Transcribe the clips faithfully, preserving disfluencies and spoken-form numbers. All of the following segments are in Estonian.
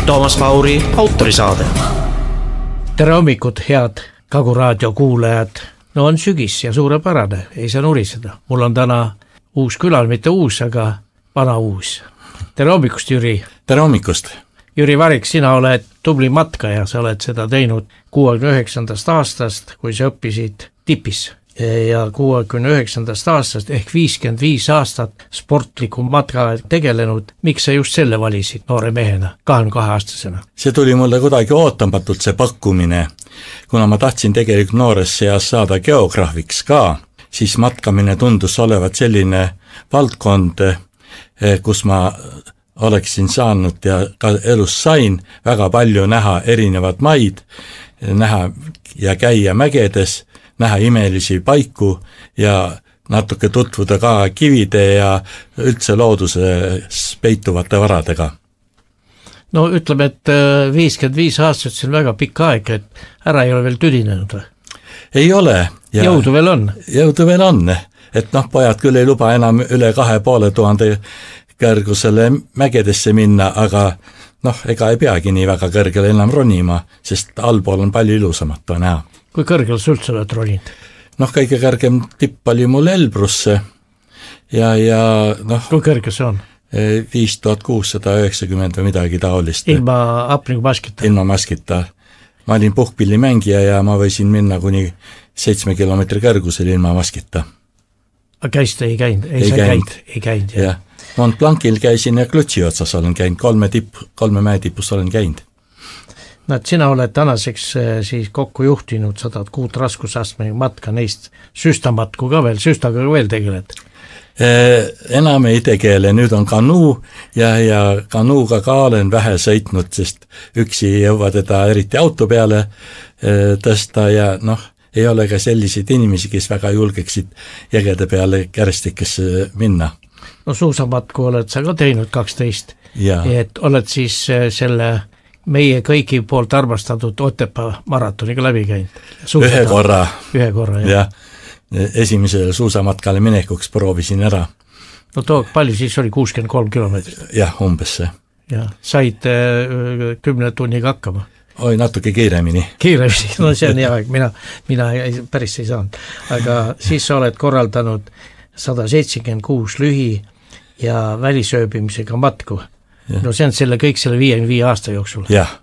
Toomas Pauri autorisaade. Tere hommikut, head Kagu raadio kuulajad. No on sügis ja suurepärane, ei saa nuriseda. Mul on täna uus külal, mitte uus, aga vana uus. Tere hommikust, Jüri. Tere hommikust. Jüri Varik, sina oled tubli matkaja, sa oled seda teinud kuuekümne üheksandast aastast, kui sa õppisid tipis. Ja kuuekümne üheksandast aastast ehk viiskümmend viis aastat sportliku matka tegelenud. Miks sa just selle valisid noore mehena, kahekümne kahe aastasena? See tuli mulle kuidagi ootamatult see pakkumine. Kuna ma tahtsin tegelikult noores seas saada geograafiks ka, siis matkamine tundus olevat selline valdkond, kus ma oleksin saanud ja ka elus sain väga palju näha erinevad maid, näha ja käia mägedes, näha imelisi paiku ja natuke tutvuda ka kivide ja üldse looduses peituvate varadega. No ütleme, et viiskümmend viis aastat see on väga pikk aeg, et ära ei ole veel tüdinenud või? Ei ole. Ja jõudu veel on? Jõudu veel on, et noh, pojad küll ei luba enam üle kahe poole tuhande kõrgusele mägedesse minna, aga noh, ega ei peagi nii väga kõrgele enam ronima, sest allpool on palju ilusamat on näha. Kui kõrgel sa üldse oled roninud? Noh, kõige kõrgem tipp oli mul Elbrusse ja, ja noh... Kui kõrge see on? viis tuhat kuussada üheksakümmend või midagi taolist. Ilma hapniku maskita? Ilma maskita. Ma olin puhkpillimängija ja ma võisin minna kuni seitsme kilomeetri kõrgusel ilma maskita. Aga käist ei käinud? Ei, ei käinud. Ei käinud, jah. Ja. Mont Blancil käisin ja Klutsi otsas olen käinud, kolme, tipp, kolme mäetipus olen käinud. No, et sina oled tänaseks siis kokku juhtinud sadat kuut raskusastme matka, neist süstamatku ka veel, süstaga ka veel tegeled? Eh, enam ei tegele, nüüd on kanuu ja, ja kanuuga ka olen vähe sõitnud, sest üksi ei jõua teda eriti auto peale eh, tõsta ja noh, ei ole ka selliseid inimesi, kes väga julgeksid jõgede peale kärestikesse minna. No suusamatku oled sa ka teinud kaksteist, et oled siis selle meie kõigi poolt armastatud Otepää maratoniga läbi käinud. Ühe korra. Ühe korra, jah. Ja, esimesele suusamatkale minekuks proovisin ära. No too, palju siis oli kuuskümmend kolm kilomeetrit? Jah, umbes see. Ja, said äh, kümne tunniga hakkama? Oi, natuke kiiremini. Kiiremini, no see on hea aeg, mina, mina ei, päris ei saanud. Aga siis sa oled korraldanud sada seitsekümmend kuus lühi ja välisööbimisega matku. Ja. No see on selle kõik selle viiekümne viie aasta jooksul. Jah.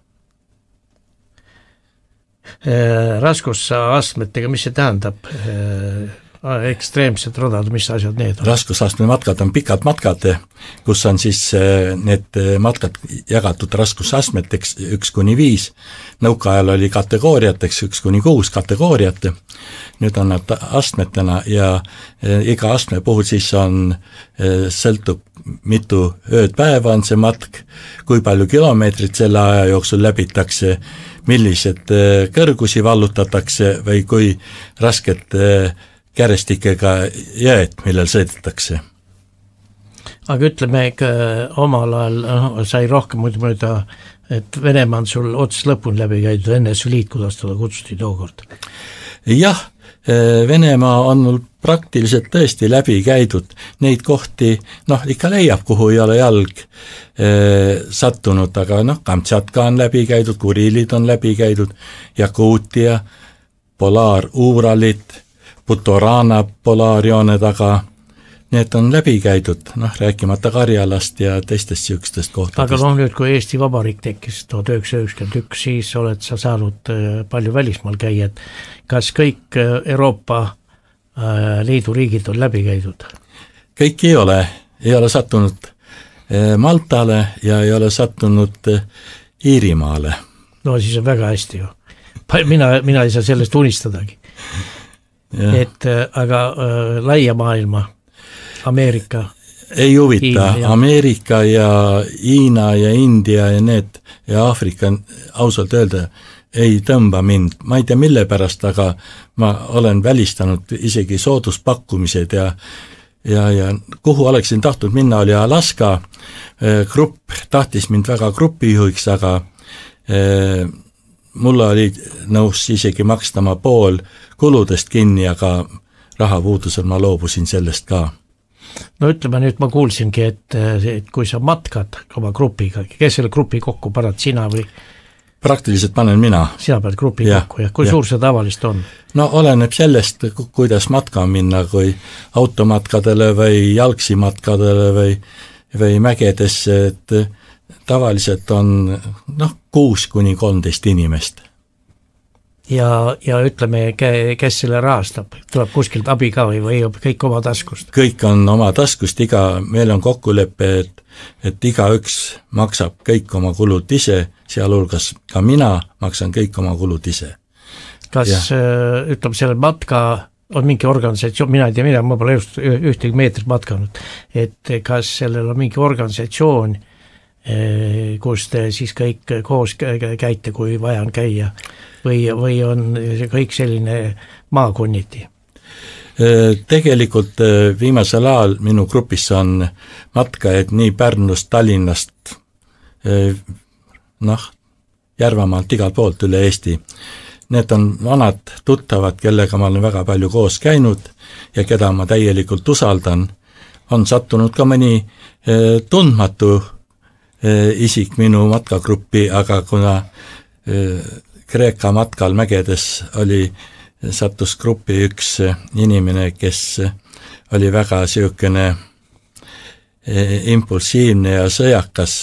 Raskusastmetega, mis see tähendab? Ekstreemsed radad, mis asjad need on? Raskusastme matkad on pikad matkad, kus on siis need matkad jagatud raskusastmeteks üks kuni viis. Nõukaajal oli kategooriateks üks kuni kuus kategooriat. Nüüd on nad astmetena ja iga astme puhul siis on, sõltub mitu ööd päeva on see matk, kui palju kilomeetrit selle aja jooksul läbitakse, millised kõrgusi vallutatakse või kui rasket kärestikega jääd, millel sõidetakse. Aga ütleme, omal ajal no, sai rohkem muidu mööda, et Venemaa on sul otsast lõpuni läbi käidud, N S V Liit, kuidas teda kutsuti tookord? Jah, Venemaa on mul praktiliselt tõesti läbi käidud, neid kohti, noh, ikka leiab, kuhu ei ole jalg eh, sattunud, aga noh, Kamtšatka on läbi käidud, Kuriilid on läbi käidud, Jakuutia, Polaar-Uuralit, Putorana polaarjoone taga, need on läbi käidud, noh, rääkimata Karjalast ja teistest sihukestest kohtadest. Aga noh, nüüd kui Eesti Vabariik tekkis tuhat üheksasada üheksakümmend üks, siis oled sa saanud palju välismaal käia, et kas kõik Euroopa Liidu riigid on läbi käidud? Kõik ei ole, ei ole sattunud Maltale ja ei ole sattunud Iirimaale. No siis on väga hästi ju. Mina, mina ei saa sellest unistadagi. Ja. Et aga äh, laia maailma, Ameerika ei huvita, ja... Ameerika ja Hiina ja India ja need ja Aafrika ausalt öelda ei tõmba mind, ma ei tea mille pärast, aga ma olen välistanud isegi sooduspakkumised ja ja, ja kuhu oleksin tahtnud minna oli Alaska, grupp tahtis mind väga grupijuhiks, aga eh, mulle oli nõus isegi makstama pool kuludest kinni, aga rahapuudusel ma loobusin sellest ka. no ütleme nüüd, ma kuulsingi, et, et kui sa matkad oma grupiga, kes selle grupi kokku paned, sina või? Praktiliselt panen mina. Sina pead grupi ja, kokku ja kui ja. Suur see tavalist on? No oleneb sellest, kuidas matka minna, kui automatkadele või jalgsi matkadele või, või mägedesse, et tavaliselt on noh, kuus kuni kolmteist inimest. Ja, ja ütleme, kes selle rahastab, tuleb kuskilt abi ka või, või kõik oma taskust? Kõik on oma taskust, iga, meil on kokkulepe, et, et iga üks maksab kõik oma kulud ise, sealhulgas ka mina maksan kõik oma kulud ise. Kas ja. Ütleme, selle matka on mingi organisatsioon, mina ei tea, mina, ma pole just ühtegi meetrit matkanud, et kas sellel on mingi organisatsioon, kus te siis kõik koos käite, kui vaja on käia, või, või on see kõik selline maakonniti? Tegelikult viimasel ajal minu grupis on matkajaid nii Pärnust, Tallinnast, noh, Järvamaalt igalt poolt üle Eesti. Need on vanad tuttavad, kellega ma olen väga palju koos käinud ja keda ma täielikult usaldan. On sattunud ka mõni tundmatu isik minu matkagruppi, aga kuna Kreeka matkal mägedes oli, sattus gruppi üks inimene, kes oli väga siukene impulsiivne ja sõjakas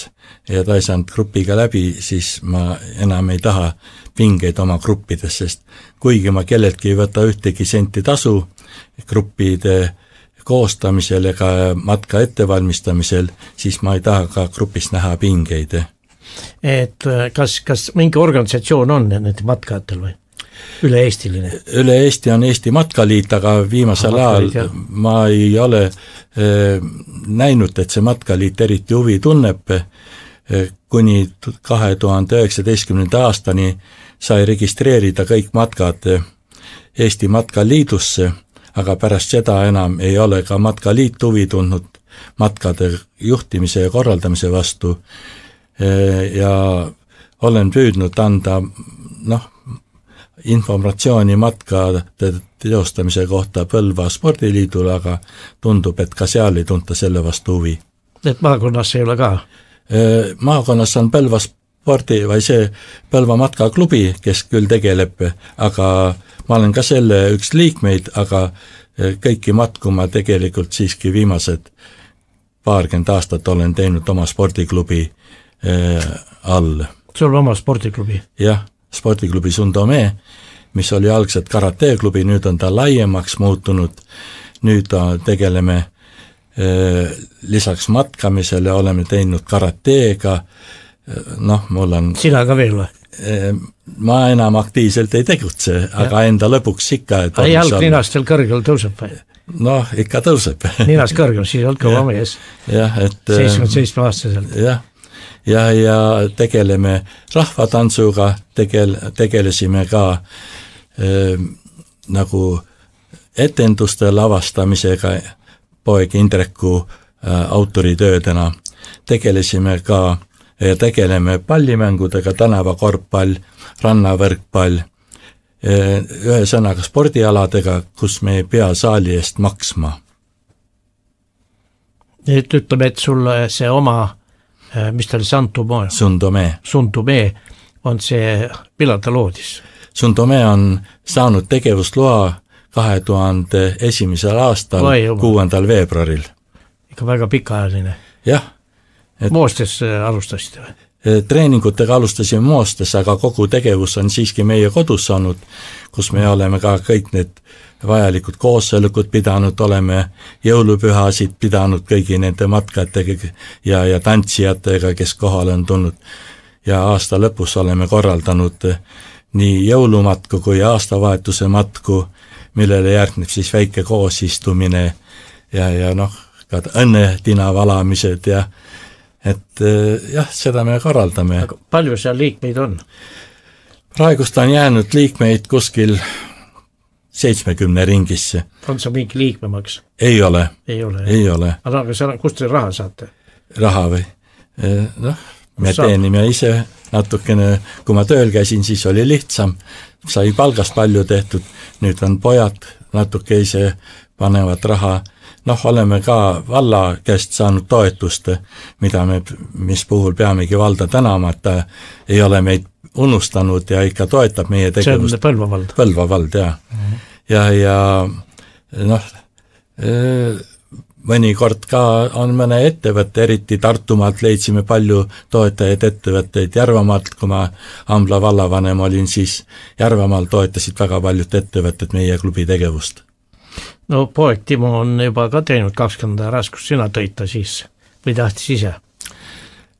ja ta ei saanud grupiga läbi, siis ma enam ei taha pingeid oma gruppides, sest kuigi ma kelleltki ei võta ühtegi senti tasu gruppide koostamisel ega matka ettevalmistamisel, siis ma ei taha ka grupis näha pingeid. Et kas, kas mingi organisatsioon on nende matkajatel või? Üle Eestiline? Üle Eesti on Eesti Matkaliit, aga viimasel ajal ma ei ole eh, näinud, et see Matkaliit eriti huvi tunneb. Kuni kahe tuhande üheksateistkümnenda aastani sai registreerida kõik matkad Eesti Matkaliidusse, aga pärast seda enam ei ole ka Matkaliit huvi tundnud matkade juhtimise ja korraldamise vastu ja olen püüdnud anda noh, informatsiooni matkade teostamise kohta Põlva spordiliidule, aga tundub, et ka seal ei tunta selle vastu huvi. Et maakonnas ei ole ka? Maakonnas on Põlva spordi või see Põlva matkaklubi, kes küll tegeleb, aga ma olen ka selle üks liikmeid, aga kõiki matku ma tegelikult siiski viimased paarkümmend aastat olen teinud oma spordiklubi all. Sul on oma spordiklubi? Jah, spordiklubi Sundome, mis oli algselt karateklubi, nüüd on ta laiemaks muutunud, nüüd tegeleme lisaks matkamisele oleme teinud karateega, noh, mul on... Sina ka veel või? Ma enam aktiivselt ei tegutse, ja. Aga enda lõpuks ikka... Jalg ninast veel kõrgel tõuseb või? Noh, ikka tõuseb. Ninas kõrgel, siis oled kõva mees. Jah, et... seitsekümmend seitse aastaselt. Jah, ja, ja tegeleme rahvatantsuga, tegel, tegelesime ka äh, nagu etenduste lavastamisega, poeg Indreku äh, autoritöödena, tegelesime ka ja tegeleme pallimängudega, tänavakorvpall, rannavõrkpall, ühe sõnaga spordialadega, kus me ei pea saali eest maksma. Nüüd ütleme, et sulle see oma, mis ta oli, Sundome? Sundome. Sundome on see, millal ta loodis? Sundome on saanud tegevusloa kahe tuhande esimesel aastal, kuuendal veebruaril. Ikka väga pikaajaline. Jah. Et Moostes alustasite või? Treeningutega alustasime Moostes, aga kogu tegevus on siiski meie kodus saanud, kus me oleme ka kõik need vajalikud koosolekud pidanud, oleme jõulupühasid pidanud kõigi nende matkatega ja, ja tantsijatega, kes kohale on tulnud. Ja aasta lõpus oleme korraldanud nii jõulumatku kui aastavahetuse matku, millele järgneb siis väike koosistumine ja, ja noh, ka õnnetina valamised ja et jah, seda me korraldame. Aga palju seal liikmeid on? Praegust on jäänud liikmeid kuskil seitsmekümne ringisse. On see mingi liikmemaks? Ei ole. Ei ole. Ei ole. Aga kust te raha saate? Raha või? Noh, me teenime ise natukene, kui ma tööl käisin, siis oli lihtsam, sai palgast palju tehtud, nüüd on pojad natuke ise panevad raha noh, oleme ka valla käest saanud toetust, mida me, mis puhul peamegi valda tänama, et ta ei ole meid unustanud ja ikka toetab meie tegevust. See on Põlva vald. Põlva vald, jah. Mm-hmm. Ja, ja noh, mõnikord ka on mõne ettevõtte, eriti Tartumaalt leidsime palju toetajaid ettevõtteid, Järvamaalt, kui ma Ambla vallavanem olin, siis Järvamaal toetasid väga paljud ettevõtted meie klubi tegevust. No poeg Timo on juba ka teinud kakskümmend raskust, sina tõid ta siis või tahtis ise?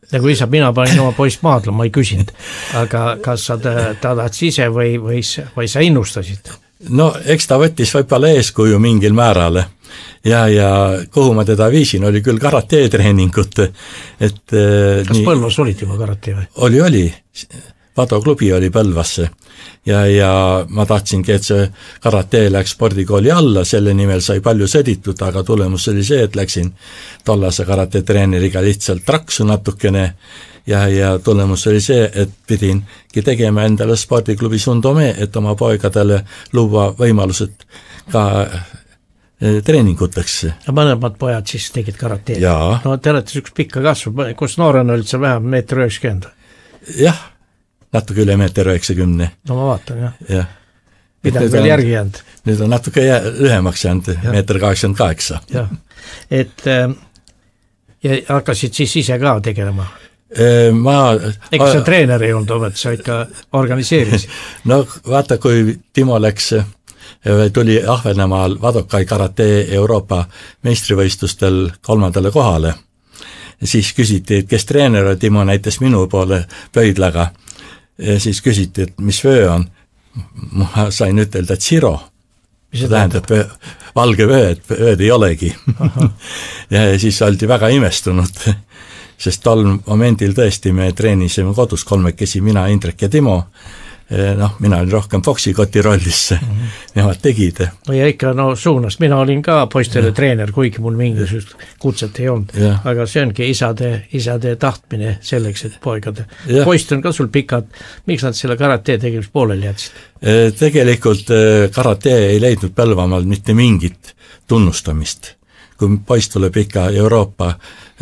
Nagu isa, mina panin oma poist maadla, ma ei küsinud, aga kas sa ta, ta tahtis ise või, või, või sa innustasid? No eks ta võttis võib-olla eeskuju mingil määrale ja, ja kuhu ma teda viisin, oli küll karatee-treeningut, et kas nii, Põlvas olid juba karatee või? Oli, oli, Vado klubi oli Põlvasse ja, ja ma tahtsingi, et see karatee läks spordikooli alla, selle nimel sai palju sõditud, aga tulemus oli see, et läksin tollase karatee-treeneriga lihtsalt traksu natukene ja, ja tulemus oli see, et pidingi tegema endale spordiklubi Sundome, et oma poegadele luua võimalused ka treeninguteks. Ja mõlemad pojad siis tegid karateed? Jaa. No te olete üks pikka kasvu, kus noorena olid see vähem meeter üheksakümmend? Jah, natuke üle meeter üheksakümne. No ma vaatan, jah. jah. Midagi veel järgi jäänud? Nüüd on natuke lühemaks jäänud, meeter kaheksakümmend kaheksa. Jah, et ja hakkasid siis ise ka tegelema? Ma... Ega sa treener ei olnud, et sa ikka organiseerisid? No vaata, kui Timo läks, tuli Ahvenemaal Vadokai karatee Euroopa meistrivõistlustel kolmandale kohale, siis küsiti, et kes treener, Timo näitas minu poole pöidlaga, ja siis küsiti, et mis vöö on. Ma sain ütelda, et Siro. See tähendab vöö, valge vöö, et vööd ei olegi. ja siis oldi väga imestunud, sest tol momendil tõesti me treenisime kodus kolmekesi, mina, Indrek ja Timo. Noh, mina olin rohkem Foxikoti rollisse, mm-hmm. nemad tegid. No ja ikka no suunas, mina olin ka poistele ja. Treener, kuigi mul mingisugust kutset ei olnud, ja. Aga see ongi isade, isade tahtmine selleks, et poegade. Ja. Poist on ka sul pikad, miks nad selle karatee tegemis pooleli jätsid? Tegelikult karatee ei leidnud Põlvamaal mitte mingit tunnustamist. Kui poist tuleb ikka Euroopa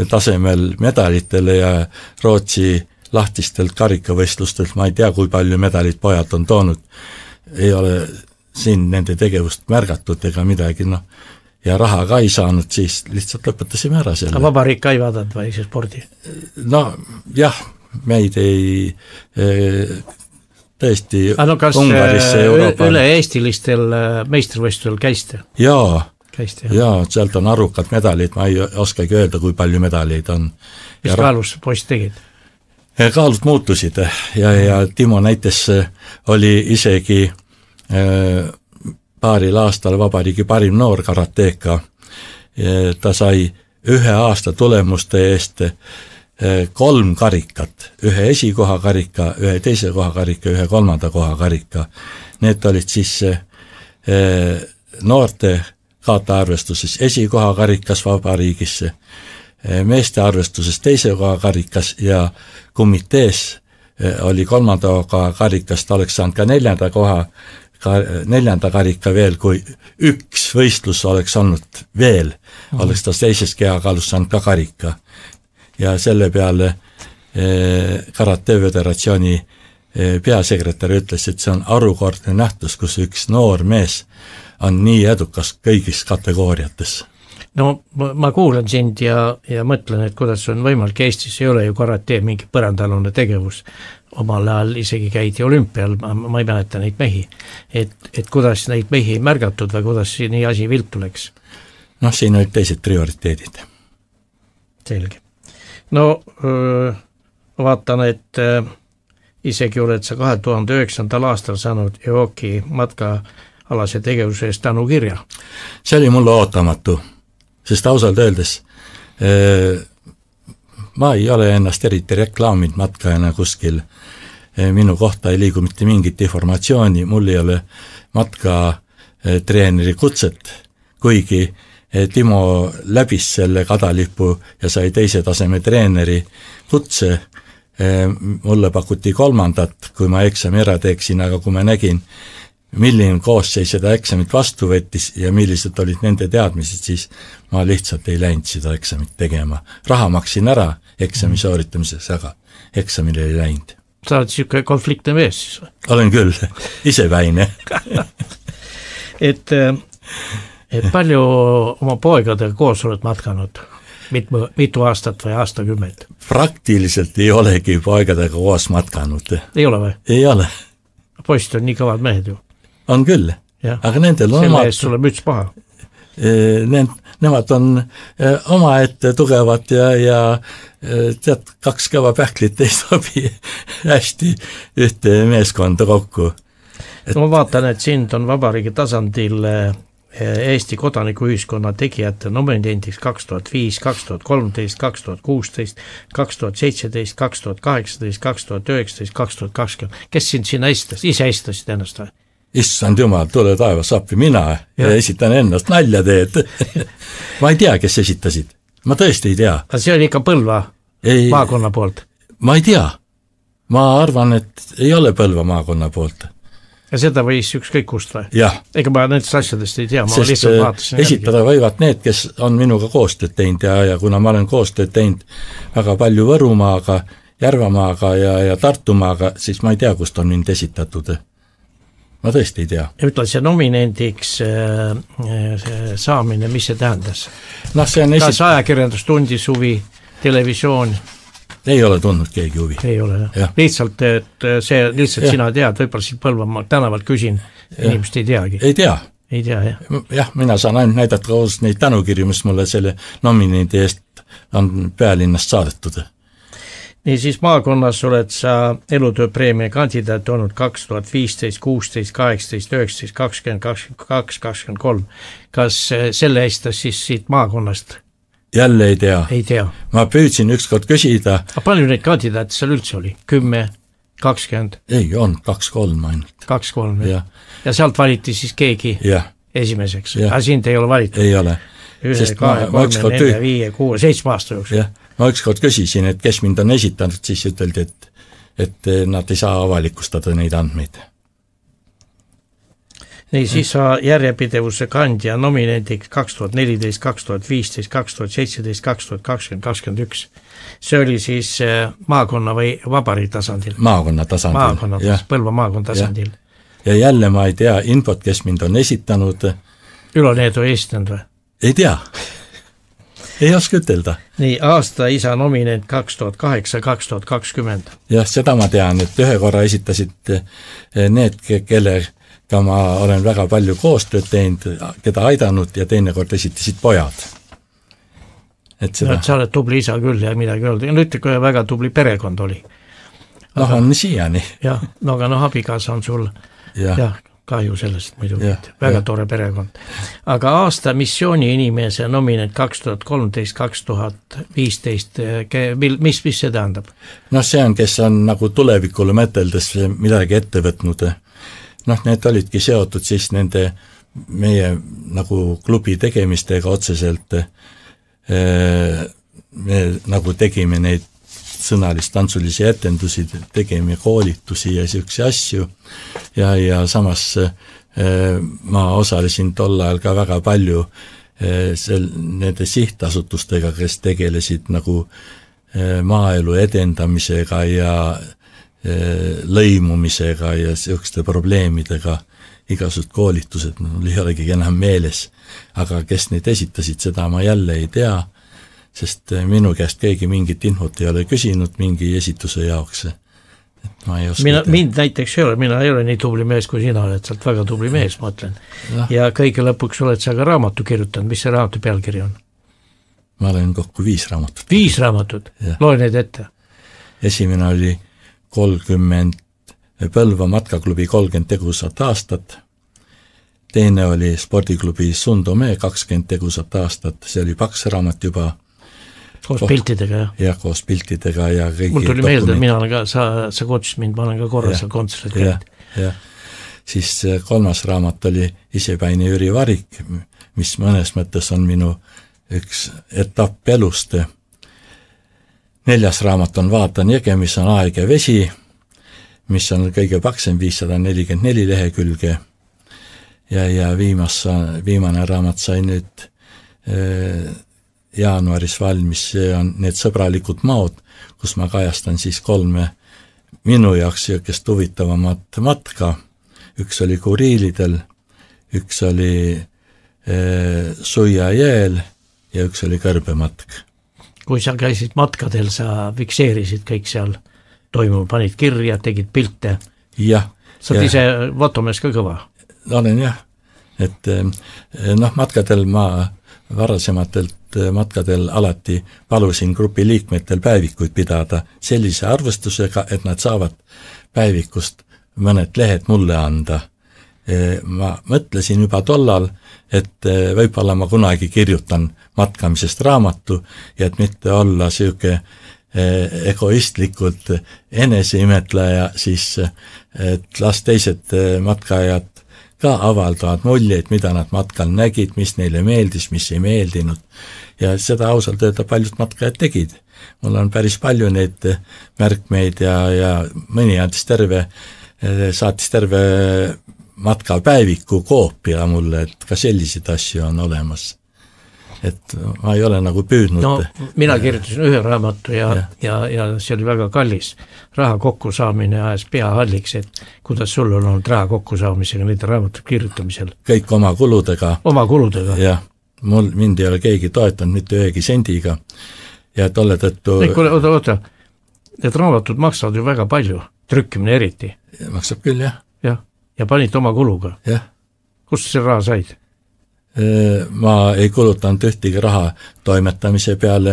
tasemel medalitele ja Rootsi lahtistelt karikavõistlustelt, ma ei tea, kui palju medalid pojad on toonud, ei ole siin nende tegevust märgatud ega midagi, noh, ja raha ka ei saanud, siis lihtsalt lõpetasime ära selle. Vabariik ka ei vaadanud või see spordi? No jah, meid ei tõesti no, kas Ungarisse Euroopa... üle eestilistel meistrivõistlustel käiste? Jaa, käiste, jaa, sealt on arvukad medalid, ma ei oskagi öelda, kui palju medaleid on. Mis ja kaalus poist tegid? Kaalud muutusid ja, ja Timo näites oli isegi äh, paaril aastal vabariigi parim noor karateeka. Ta sai ühe aasta tulemuste eest äh, kolm karikat, ühe esikoha karika, ühe teise koha karika, ühe kolmanda koha karika. Need olid siis äh, noorte kaataarvestuses esikoha karikas vabariigisse, meeste arvestuses teise koha karikas ja komitees oli kolmanda koha karikas, ta oleks saanud ka neljanda koha, ka neljanda karika veel, kui üks võistlus oleks olnud veel, mm. oleks ta teises kehakaalus saanud ka karika. Ja selle peale eh, Karate Föderatsiooni eh, peasekretär ütles, et see on arukordne nähtus, kus üks noor mees on nii edukas kõigis kategooriates. No ma kuulen sind ja, ja mõtlen, et kuidas on võimalik, Eestis ei ole ju karate mingi põrandalune tegevus, omal ajal isegi käidi olümpial, ma, ma ei mäleta neid mehi, et, et kuidas neid mehi ei märgatud või kuidas nii asi viltu läks? Noh, siin olid teised prioriteedid. Selge. No öö, vaatan, et öö, isegi oled sa kahe tuhande üheksandal aastal saanud E O K-i matkaalase tegevuse eest tänu kirja. See oli mulle ootamatu. Sest ausalt öeldes eh, ma ei ole ennast eriti reklaamid matkajana kuskil, eh, minu kohta ei liigu mitte mingit informatsiooni, mul ei ole matka eh, treeneri kutset, kuigi eh, Timo läbis selle kadalipu ja sai teise taseme treeneri kutse, eh, mulle pakuti kolmandat, kui ma eksami ära teeksin, aga kui ma nägin, milline koosseis seda eksamit vastu võttis ja millised olid nende teadmised, siis ma lihtsalt ei läinud seda eksamit tegema. Raha maksin ära eksami sooritamiseks, aga eksamile ei läinud. Sa oled siuke konfliktne mees siis või? Olen küll, isepäine. et, et palju oma poegadega koos oled matkanud? Mitu, mitu aastat või aastakümmet? Praktiliselt ei olegi poegadega koos matkanud. Ei ole või? Ei ole. Poisid on nii kõvad mehed ju. On küll, ja. Aga nendel on selle omad... eest sulle müts paha. Need, nemad on oma ette tugevad ja, ja tead, kaks kõva pähklit ei sobi hästi ühte meeskonda kokku. Et... No ma vaatan, et sind on vabariigi tasandil Eesti kodanikuühiskonna tegijate nominendiks kaks tuhat viis, kaks tuhat kolmteist, kaks tuhat kuusteist, kaks tuhat seitseteist, kaks tuhat kaheksateist, kaks tuhat üheksateist, kaks tuhat kakskümmend. Kes sind sinna estas? Ise estasid ennast või? Issand jumal, tule taevas appi, mina ja. Ja esitan ennast, nalja teed. Ma ei tea, kes esitasid. Ma tõesti ei tea. Aga see oli ikka Põlva ei, maakonna poolt? Ma ei tea. Ma arvan, et ei ole Põlva maakonna poolt. Ja seda võis ükskõik kust või? Jah. Ega ma nendest asjadest ei tea, ma sest lihtsalt vaatasin esitada järgi. Võivad need, kes on minuga koostööd teinud ja, ja kuna ma olen koostööd teinud väga palju Võrumaaga, Järvamaaga ja, ja Tartumaaga, siis ma ei tea, kust on mind esitatud. Ma tõesti ei tea. Ütle, see nominendiks see saamine, mis see tähendas? No, see on esit... Kas ajakirjandus tundis huvi, televisioon? Ei ole tundnud keegi huvi. Ei ole, jah. Ja. Lihtsalt, et see lihtsalt ja. Sina tead, võib-olla siit Põlvamaa tänavalt küsin, inimest ei teagi. Ei tea. Ei tea, jah. Jah, mina saan ainult näidata koos neid tänukirju, mis mulle selle nominendi eest on pealinnast saadetud. Nii siis maakonnas oled sa elutööpreemia kandidaat olnud kaks tuhat viisteist, kuusteist, kaheksateist, üheksateist, kakskümmend, kakskümmend kaks, kakskümmend kolm. Kas selle eestas siis siit maakonnast? Jälle ei tea. Ei tea. Ma püüdsin ükskord küsida. A palju neid kandidaate seal üldse oli? Kümme, kakskümmend? Ei, on kaks-kolm ainult. Kaks-kolm, ja. Ja sealt valiti siis keegi ja. Esimeseks. Aga sind ei ole valitud? Ei ole. Ühe, kahe, kolme, nelja, viie, kuue, seitsme aasta jooksul. Ja. Ma ükskord küsisin, et kes mind on esitanud, siis üteldi, et, et nad ei saa avalikustada neid andmeid. Nii, siis sa järjepidevuse kandja nominendiks kaks tuhat neliteist, kaks tuhat viisteist, kaks tuhat seitseteist, kaks tuhat kakskümmend, kakskümmend üks. See oli siis maakonna või vabariigi tasandil? Maakonna tasandil. Maakonna tasandil, Põlva maakonna tasandil. Ja. ja jälle ma ei tea infot, kes mind on esitanud. Ülo Needu ei esitanud või? Ei tea. Ei oska ütelda. Nii, aasta isa nominent kaks tuhat kaheksa, kaks tuhat kakskümmend. Jah, seda ma tean, et ühe korra esitasid need, kelle ka ma olen väga palju koostööd teinud, keda aidanud ja teine kord esitasid pojad. Et seda... no, et sa oled tubli isa küll ja midagi öelda. Ja nüüd kui väga tubli perekond oli. Aga... noh, on siiani. jah, no aga noh, abikaasa on sul ja. Jah, kahju sellest muidugi, väga ja. Tore perekond. Aga aasta missiooni inimese nominent kaks tuhat kolmteist, kaks tuhat viisteist, mis, mis see tähendab? noh, see on, kes on nagu tulevikule mõteldes midagi ette võtnud. noh, need olidki seotud siis nende meie nagu klubi tegemistega otseselt. Me nagu tegime neid sõnalist tantsulisi etendusi, tegime koolitusi ja siukse asju ja, ja samas ma osalesin tol ajal ka väga palju sel, nende sihtasutustega, kes tegelesid nagu maaelu edendamisega ja lõimumisega ja siukeste probleemidega, igasugused koolitused, mul ei olegi enam meeles, aga kes neid esitasid, seda ma jälle ei tea, sest minu käest keegi mingit infot ei ole küsinud mingi esituse jaoks. Et ma ei oska mina, mind näiteks ei ole, mina ei ole nii tubli mees kui sina oled, sa oled väga tubli mees, ma ütlen. Ja, ja kõige lõpuks oled sa ka raamatu kirjutanud, mis see raamatu pealkiri on? Ma olen kokku viis raamatut. Viis raamatut? Loe neid ette. Esimene oli kolmkümmend Põlva matkaklubi kolmkümmend tegusat aastat, teine oli spordiklubi Sundome kakskümmend tegusat aastat, see oli paks raamat juba. Koos koht, piltidega, jah? Jah, koos piltidega ja kõigi mul tuli meelde, et mina olen ka, sa, sa kutsusid mind, ma olen ka korra seal kontsert käinud. Ja, siis kolmas raamat oli Isepäine Jüri Varik, mis mõnes mõttes on minu üks etapp elust. Neljas raamat on Vaatan jõge, mis on Aeg ja vesi, mis on kõige paksem viissada nelikümmend neli lehekülge ja, ja viimas, viimane raamat sai nüüd äh, jaanuaris valmis, see on need sõbralikud maod, kus ma kajastan siis kolme minu jaoks jõukest huvitavamat matka. Üks oli Kuriilidel, üks oli äh, Suia jääl ja üks oli Kõrbematk. Kui sa käisid matkadel, sa fikseerisid kõik seal toimub, panid kirja, tegid pilte. Jah. Sa oled ise fotomees ka kõva? Olen jah, et noh, matkadel ma varasematelt matkadel alati palusin grupi liikmetel päevikuid pidada sellise arvestusega, et nad saavad päevikust mõned lehed mulle anda. Ma mõtlesin juba tollal, et võib-olla ma kunagi kirjutan matkamisest raamatu ja et mitte olla siuke egoistlikult eneseimetleja, siis et las teised matkajad ka avaldavad muljeid, mida nad matkal nägid, mis neile meeldis, mis ei meeldinud. Ja seda ausalt öelda paljud matkajad tegid. Mul on päris palju neid märkmeid ja, ja mõni andis terve, saatis terve matkapäeviku koopia mulle, et ka selliseid asju on olemas. Et ma ei ole nagu püüdnud. No, mina kirjutasin ühe raamatu ja, ja. ja, ja see oli väga kallis. Raha kokku saamine ajas pea halliks, et kuidas sul on olnud raha kokku saamisega nende raamatu kirjutamisel? Kõik oma kuludega. Oma kuludega? Jah, mul, mind ei ole keegi toetanud mitte ühegi sendiga. Ja tolle tõttu... Kuule, oota, oota, need raamatud maksavad ju väga palju, trükkimine eriti. Maksab küll, jah. Jah, ja panid oma kuluga. Jah. Kust see raha said? Ma ei kulutanud ühtegi raha toimetamise peale,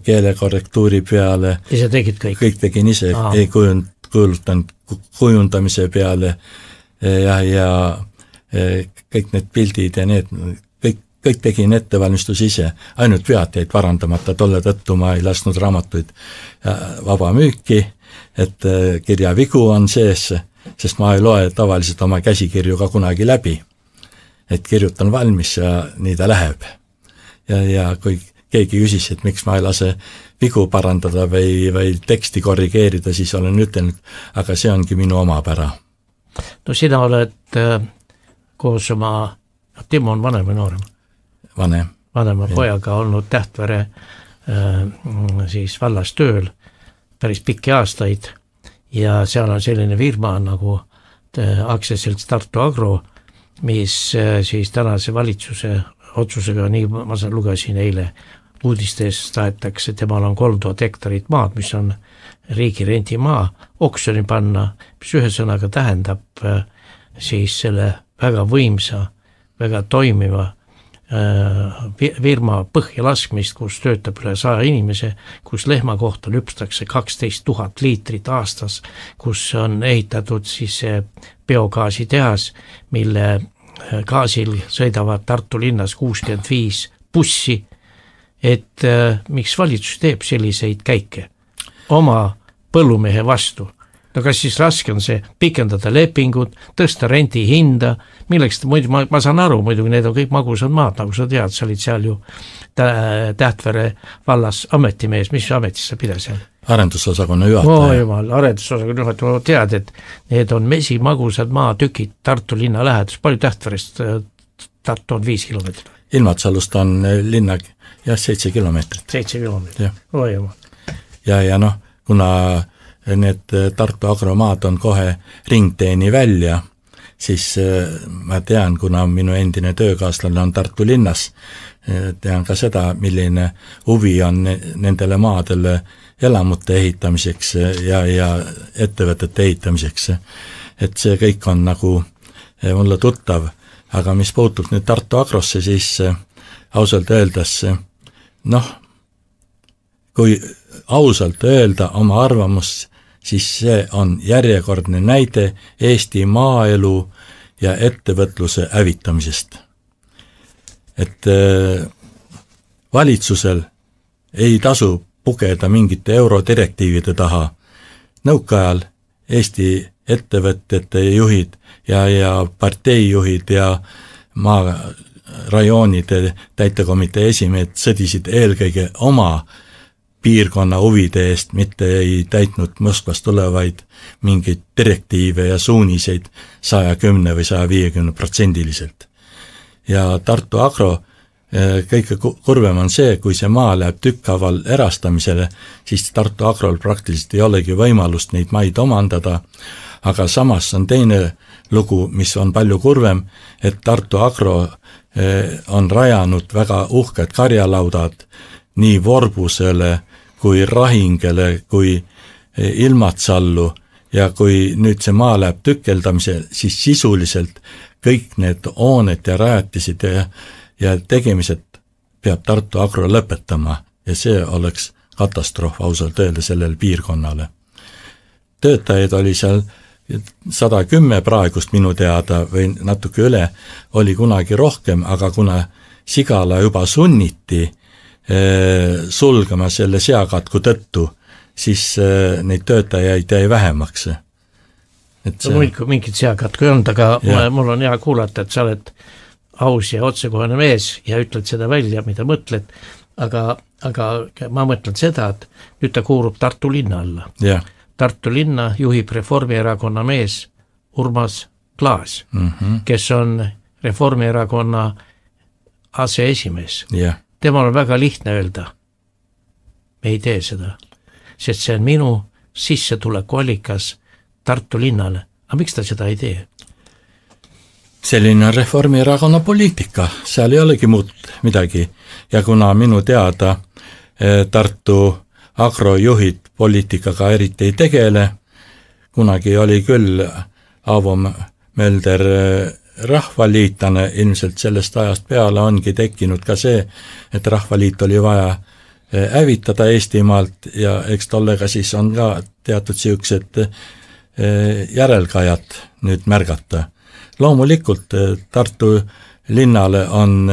keelekorrektuuri peale. Ise tegid kõik? Kõik tegin ise, Aa. ei kujund, kulutanud kujundamise peale ja, ja kõik need pildid ja need, kõik, kõik tegin ettevalmistus ise. Ainult vead jäid parandamata, tolle tõttu ma ei lasknud raamatuid vaba müüki, et kirja vigu on sees, sest ma ei loe tavaliselt oma käsikirju ka kunagi läbi. Et kirjutan valmis ja nii ta läheb. Ja, ja kui keegi küsis, et miks ma ei lase vigu parandada või, või teksti korrigeerida, siis olen ütelnud, aga see ongi minu omapära. No sina oled äh, koos oma, Timo on vanem või noorem? Vanem. Vanema ja. Pojaga olnud Tähtvere äh, siis vallas tööl päris pikki aastaid ja seal on selline firma nagu äh, aktsiaselts Tartu Agro, mis siis tänase valitsuse otsusega, nii ma lugesin eile uudistes, tahetakse, temal on kolm tuhat hektarit maad, mis on riigi rendimaa, oksjoni panna, mis ühe sõnaga tähendab siis selle väga võimsa, väga toimiva firma põhja laskmist, kus töötab üle saja inimese, kus lehma kohta lüpstakse kaksteist tuhat liitrit aastas, kus on ehitatud siis biogaasi tehas, mille gaasil sõidavad Tartu linnas kuuskümmend viis bussi, et äh, miks valitsus teeb selliseid käike oma põllumehe vastu. No kas siis raske on see pikendada lepingut, tõsta rendi hinda, milleks muidu, ma, ma saan aru, muidu need on kõik magusad maad, nagu sa tead, sa olid seal ju Tähtvere vallas ametimees, mis ametis sa pida seal? Arendusosakonna juhataja. Oo jumal, arendusosakonna juhataja, tead, et need on mesi magusad maatükid Tartu linna lähedus, palju Tähtverest Tartu on viis kilomeetrit? Ilmatsalust on linna, jah, seitse kilomeetrit. Seitse kilomeetrit, oo jumal. Ja, ja noh, kuna need Tartu agromaad on kohe ringteeni välja, siis ma tean, kuna minu endine töökaaslane on Tartu linnas, tean ka seda, milline huvi on nendele maadele elamute ehitamiseks ja, ja ettevõtete ehitamiseks. Et see kõik on nagu mulle tuttav, aga mis puutub nüüd Tartu Agrosse, siis ausalt öeldes, noh, kui ausalt öelda oma arvamust, siis see on järjekordne näide Eesti maaelu ja ettevõtluse hävitamisest. Et valitsusel ei tasu pugeda mingite eurodirektiivide taha. Nõukaajal Eesti ettevõtete juhid ja, ja parteijuhid ja maa rajoonide täitekomitee esimehed sõdisid eelkõige oma piirkonna huvide eest, mitte ei täitnud Moskvast tulevaid mingeid direktiive ja suuniseid saja kümne või saja viiekümne protsendiliselt. Ja Tartu Agro kõige kurvem on see, kui see maa läheb tükkhaaval erastamisele, siis Tartu Agrol praktiliselt ei olegi võimalust neid maid omandada, aga samas on teine lugu, mis on palju kurvem, et Tartu Agro on rajanud väga uhked karjalaudad nii Vorbusele kui Rahingele kui Ilmatsallu ja kui nüüd see maa läheb tükeldamisele, siis sisuliselt kõik need hooned ja rajatised ja, ja tegemised peab Tartu Agro lõpetama ja see oleks katastroof ausalt öelda sellele piirkonnale. Töötajaid oli seal sada kümme praegust minu teada või natuke üle, oli kunagi rohkem, aga kuna Sigala juba sunniti eh, sulgema selle seakatku tõttu, siis eh, neid töötajaid jäi vähemaks. Et see... no, mingit seakatku ei olnud, aga ja. Mul on hea kuulata, et sa oled aus ja otsekohane mees ja ütled seda välja, mida mõtled, aga, aga ma mõtlen seda, et nüüd ta kuulub Tartu linna alla. Ja. Tartu linna juhib Reformierakonna mees Urmas Klaas, mm -hmm. kes on Reformierakonna aseesimees. Yeah. Temal on väga lihtne öelda, me ei tee seda, sest see on minu sissetulekuallikas Tartu linnale. Aga miks ta seda ei tee? Selline on Reformierakonna poliitika, seal ei olegi muud midagi. Ja kuna minu teada Tartu agrojuhid poliitikaga eriti ei tegele, kunagi oli küll Aavo Mölder rahvaliitlane, ilmselt sellest ajast peale ongi tekkinud ka see, et rahvaliit oli vaja hävitada Eestimaalt ja eks tollega siis on ka teatud siuksed järelkajad nüüd märgata. Loomulikult Tartu linnale on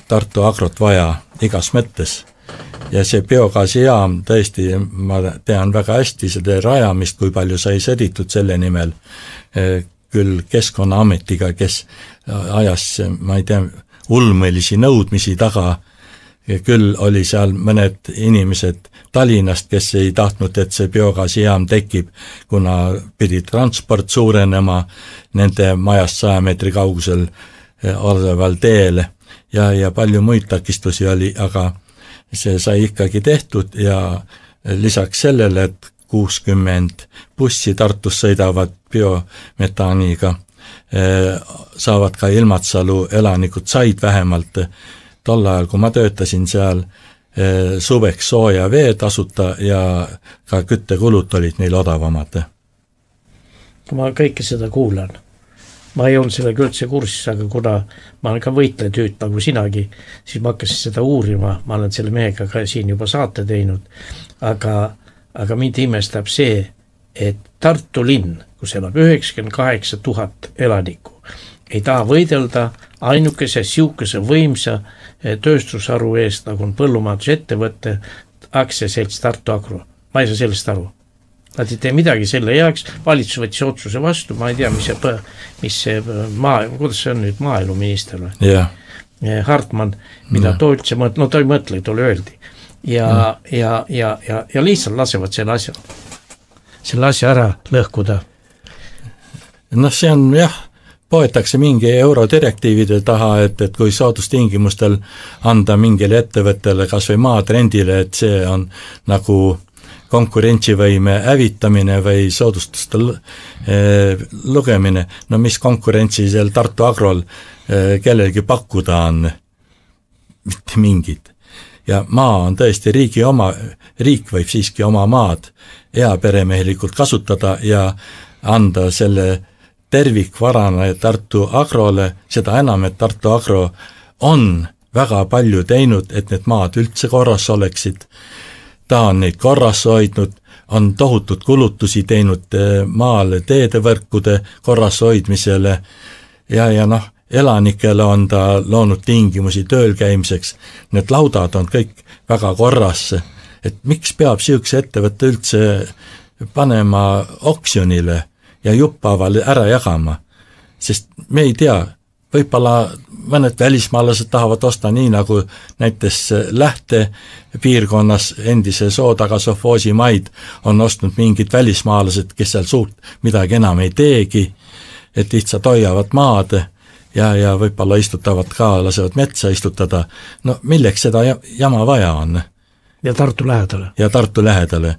Tartu Agrot vaja igas mõttes. Ja see biogaasijaam, tõesti, ma tean väga hästi seda rajamist, kui palju sai sõditud selle nimel, küll Keskkonnaametiga, kes ajas, ma ei tea, ulmelisi nõudmisi taga, küll oli seal mõned inimesed Tallinnast, kes ei tahtnud, et see biogaasijaam tekib, kuna pidi transport suurenema nende majast saja meetri kaugusel oleval teel ja, ja palju muid takistusi oli, aga see sai ikkagi tehtud ja lisaks sellele, et kuuskümmend bussi Tartus sõidavad biometaaniga, saavad ka Ilmatsalu elanikud said vähemalt tol ajal, kui ma töötasin seal suveks sooja vee tasuta ja ka küttekulud olid neil odavamad. Ma kõike seda kuulan. Ma ei olnud sellega üldse kursis, aga kuna ma olen ka võitlejatüüt nagu sinagi, siis ma hakkasin seda uurima, ma olen selle mehega ka siin juba saate teinud, aga, aga mind imestab see, et Tartu linn, kus elab üheksakümmend kaheksa tuhat elanikku, ei taha võidelda ainukese siukese võimsa tööstusharu eest, nagu on põllumajandusettevõtte aktsiaselts Tartu Agro. Ma ei saa sellest aru. Nad ei tee midagi selle heaks, valitsus võttis otsuse vastu, ma ei tea, mis see, mis see maa, kuidas see on nüüd maaeluminister või? Yeah. Hartmann, mida yeah. too üldse mõtle, no ta ei mõtle, tole öeldi. Ja, yeah. ja, ja, ja, ja lihtsalt lasevad selle asja, selle asja ära lõhkuda. No see on jah, poetakse mingi eurodirektiivide taha, et, et kui soodustingimustel anda mingile ettevõttele kas või maatrendile, et see on nagu konkurentsivõime hävitamine või soodustuste lugemine, no mis konkurentsi seal Tartu Agrol kellelgi pakkuda on, mitte mingid. Ja maa on tõesti riigi oma, riik võib siiski oma maad heaperemehelikult kasutada ja anda selle tervikvarana Tartu Agrole, seda enam, et Tartu Agro on väga palju teinud, et need maad üldse korras oleksid. Ta on neid korras hoidnud, on tohutud kulutusi teinud maale teedevõrkude korras hoidmisele ja, ja noh, elanikele on ta loonud tingimusi tööl käimiseks. Need laudad on kõik väga korras, et miks peab siukse ettevõtte üldse panema oksjonile ja juppavale ära jagama, sest me ei tea, võib-olla mõned välismaalased tahavad osta nii, nagu näiteks Lähte piirkonnas endise Sootaga sovhoosi maid on ostnud mingid välismaalased, kes seal suurt midagi enam ei teegi, et lihtsalt hoiavad maad ja, ja võib-olla istutavad ka, lasevad metsa istutada. No milleks seda jama vaja on? Ja Tartu lähedale. Ja Tartu lähedale.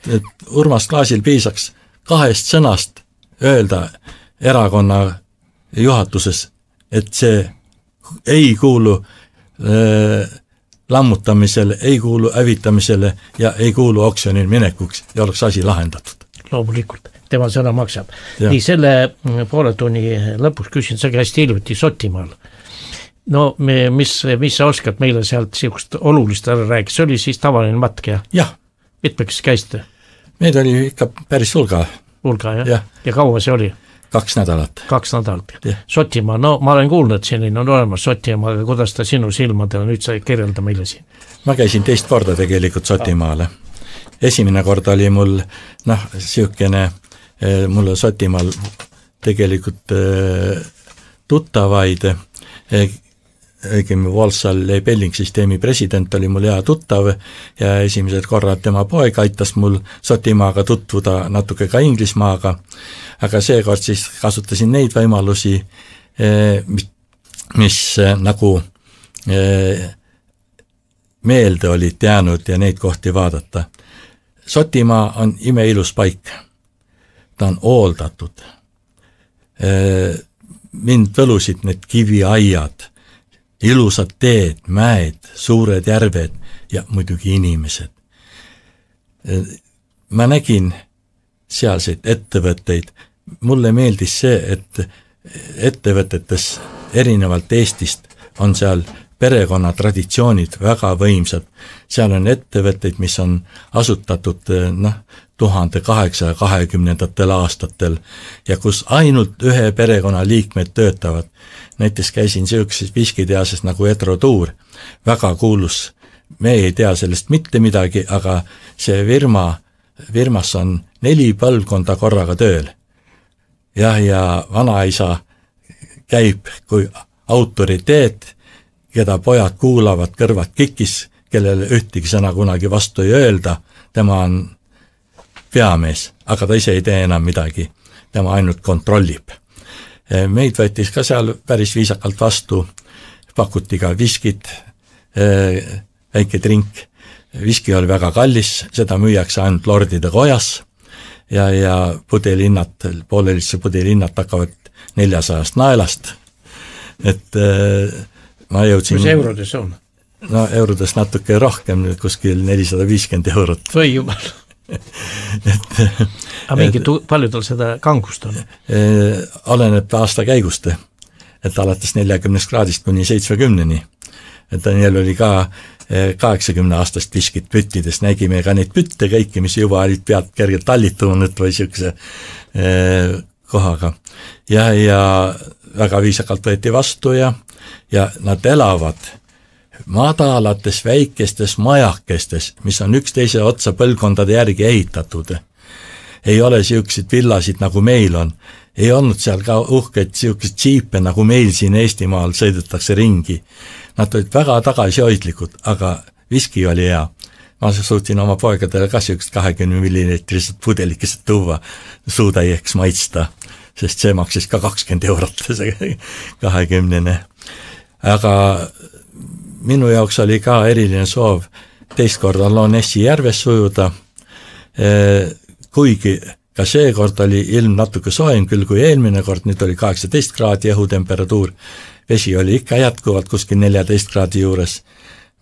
Et Urmas Klaasil piisaks kahest sõnast öelda erakonna juhatuses, et see ei kuulu äh, lammutamisele, ei kuulu hävitamisele ja ei kuulu oksjonil minekuks ja oleks asi lahendatud. Loomulikult, tema sõna maksab. Ja. Nii selle poole tunni lõpuks küsin, sa käisid hiljuti Sotimaal. No me, mis, mis sa oskad meile sealt siukest olulist ära rääkida, see oli siis tavaline matk ja? Jah. Mitmeks käisite? Meid oli ikka päris hulga. Hulga, jah? Ja, ja kaua see oli? Kaks nädalat. Kaks nädalat. Sotimaa, no ma olen kuulnud, et selline on olemas Sotimaa, aga kuidas ta sinu silmadel, nüüd sa kirjelda meile siin? Ma käisin teist korda tegelikult Sotimaale. Esimene kord oli mul, noh, siukene, mul Sotimaal tegelikult tuttavaid, õigemi Walsall Belling-süsteemi president oli mul hea tuttav ja esimesed korrad tema poeg aitas mul Sotimaaga tutvuda, natuke ka Inglismaaga, aga seekord siis kasutasin neid võimalusi, mis, mis nagu meelde olid jäänud ja neid kohti vaadata. Sotimaa on imeilus paik. Ta on hooldatud. Mind võlusid need kiviaiad, ilusad teed, mäed, suured järved ja muidugi inimesed. Ma nägin sealseid ettevõtteid. Mulle meeldis see, et ettevõtetes erinevalt Eestist on seal perekonna traditsioonid väga võimsad. Seal on ettevõtteid, mis on asutatud noh, tuhande kaheksasaja kahekümnendatel aastatel ja kus ainult ühe perekonna liikmed töötavad. Näiteks käisin siukses viskiteases nagu Edro Tuur, väga kuulus. Me ei tea sellest mitte midagi, aga see firma, firmas on neli põlvkonda korraga tööl. Ja, ja vanaisa käib kui autoriteet, keda pojad kuulavad kõrvad kikis, kellele ühtegi sõna kunagi vastu ei öelda. Tema on peamees, aga ta ise ei tee enam midagi. Tema ainult kontrollib. Meid võttis ka seal päris viisakalt vastu, pakuti ka viskit, väike drink. Viski oli väga kallis, seda müüakse ainult lordide kojas ja, ja pudelinnad, poolelisse pudelinnad hakkavad neljasajast naelast. Et ma jõudsin... Mis eurodes on? No eurodes natuke rohkem, kuskil nelisada viiskümmend eurot. Või jumal. et, aga mingi tu- palju tal seda kangust on? Oleneb aasta käigust, et alates neljakümnest kraadist kuni seitsmekümneni. Et Daniel oli ka kaheksakümne aastast viskit püttides, nägime ka neid pütte kõiki, mis juba olid pealt kergelt tallitunud või siukse kohaga. Ja, ja väga viisakalt võeti vastu ja, ja nad elavad madalates väikestes majakestes, mis on üksteise otsa põlvkondade järgi ehitatud. Ei ole siukseid villasid, nagu meil on. Ei olnud seal ka uhkeid siukseid džiipe, nagu meil siin Eestimaal sõidetakse ringi. Nad olid väga tagasihoidlikud, aga viski oli hea. Ma suutsin oma poegadele ka siukest kahekümne milliliitrised pudelikesed tuua suutäieks maitsta, sest see maksis ka kakskümmend eurot, see kahekümnene. Aga minu jaoks oli ka eriline soov teist korda Lonessi järves sujuda, kuigi ka see kord oli ilm natuke soem küll kui eelmine kord, nüüd oli kaheksateist kraadi õhutemperatuur, vesi oli ikka jätkuvalt kuskil neljateist kraadi juures.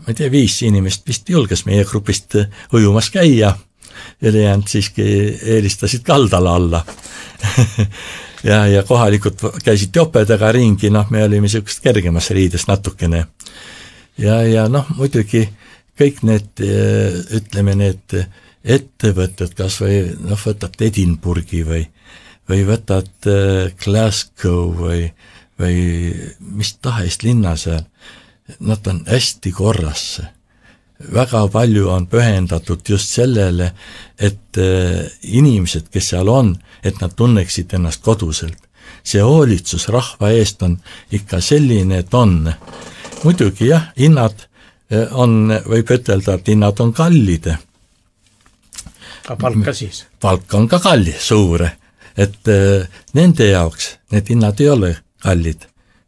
Ma ei tea, viis inimest vist julges meie grupist ujumas käia, ülejäänud siiski eelistasid kaldala alla. ja, ja kohalikud käisid jopedega ringi, noh, me olime siukest kergemas riides natukene. Ja, ja noh, muidugi kõik need, ütleme need ettevõtted, kas või noh, võtad Edinburghi või, või võtad Glasgow või, või mis tahes linna seal, nad on hästi korras. Väga palju on pühendatud just sellele, et inimesed, kes seal on, et nad tunneksid ennast koduselt. see hoolitsus rahva eest on ikka selline, et on. Muidugi jah, hinnad on, võib ütelda, et hinnad on kallid. Ka palk ka siis? Palk on ka kalli, suure. Et nende jaoks need hinnad ei ole kallid.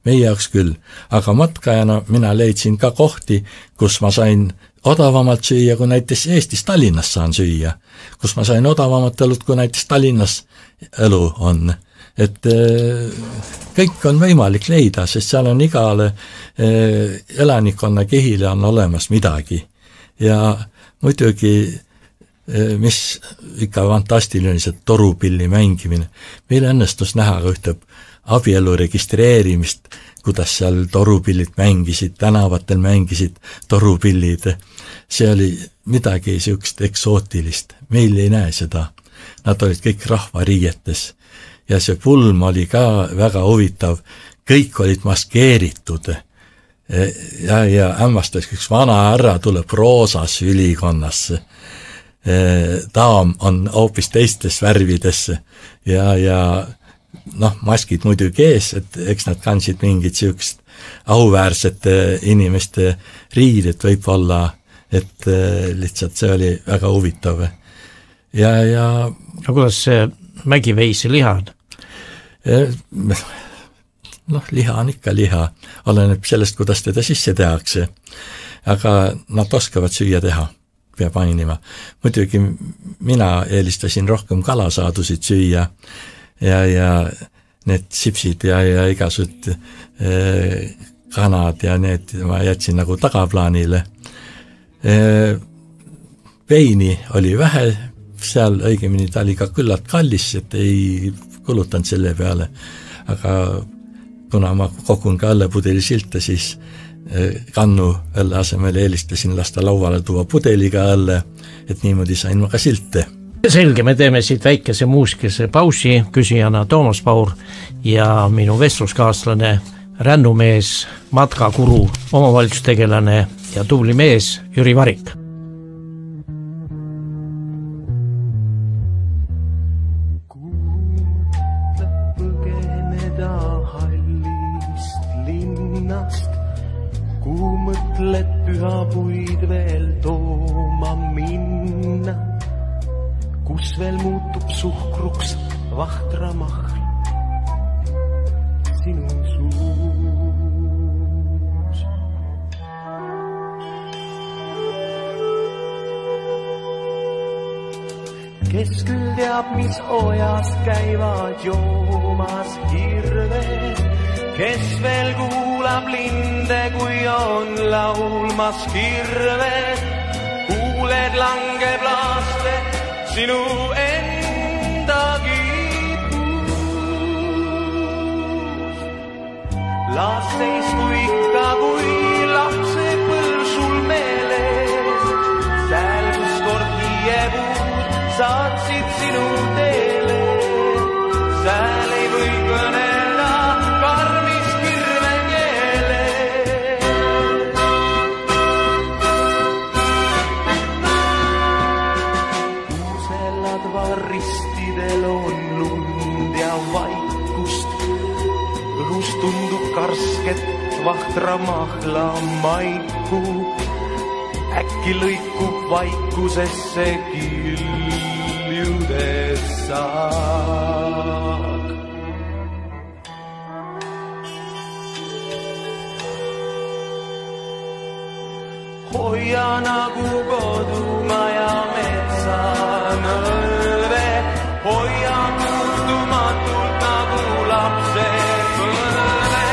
Meie jaoks küll. Aga matkajana mina leidsin ka kohti, kus ma sain odavamalt süüa, kui näiteks Eestis Tallinnas saan süüa. Kus ma sain odavamat õlut, kui näiteks Tallinnas õlu on. Et kõik on võimalik leida, sest seal on igale elanikkonna kihile on olemas midagi. Ja muidugi, mis ikka fantastiline, see torupilli mängimine. Meil õnnestus näha ühte abielu registreerimist, kuidas seal torupillid mängisid, tänavatel mängisid torupillid. See oli midagi siukest eksootilist. Meil ei näe seda. Nad olid kõik rahvariietes. Ja see pulm oli ka väga huvitav. Kõik olid maskeeritud. Ja, ja ämmastas üks vana härra tuleb roosas ülikonnasse. Daam on hoopis teistes värvides ja, ja noh, maskid muidugi ees, et eks nad kandsid mingid siukest auväärsete inimeste riided võib-olla, et lihtsalt see oli väga huvitav. Ja, ja no kuidas see mägiveisi liha on? Noh, liha on ikka liha, oleneb sellest, kuidas teda sisse tehakse, aga nad oskavad süüa teha. Peab mainima. Muidugi mina eelistasin rohkem kalasaadusid süüa ja, ja need sipsid ja, ja igasugused eh, kanad ja need ma jätsin nagu tagaplaanile. Eh, veini oli vähe, seal õigemini ta oli ka küllalt kallis, et ei kulutanud selle peale, aga kuna ma kogun ka õllepudeli silte, siis kannu õlle asemel eelistasin lasta lauale tuua pudeliga õlle, et niimoodi sain ma ka silte. Selge, me teeme siit väikese muuskese pausi, küsijana Toomas Paur ja minu vestluskaaslane, rännumees, matkakuru, omavalitsustegelane ja tubli mees Jüri Varik. Pühapuid veel tooma minna, kus veel muutub suhkruks vahtramahl sinu suus. Kes küll teab, mis ojas käivad joomas hirved, kes veel kuulab linde, kui on laulmas kirved, kuuled langeb laaste sinu enda kiipus. Laasseis kui ikka, kui lapse põrsul meeles, sääl kus kord hiiepuud saatsid sinu teele, sääl ei või kõnelda karmis kirven jeele. Kuuselad varristidel on lund ja vaikust, õhus tundub karsket vahtra mahla maiku, äkki lõikub vaikusesse kiljudes saak. Hoia nagu kodumaja metsanõlve, hoia muutumatult nagu lapse põlve,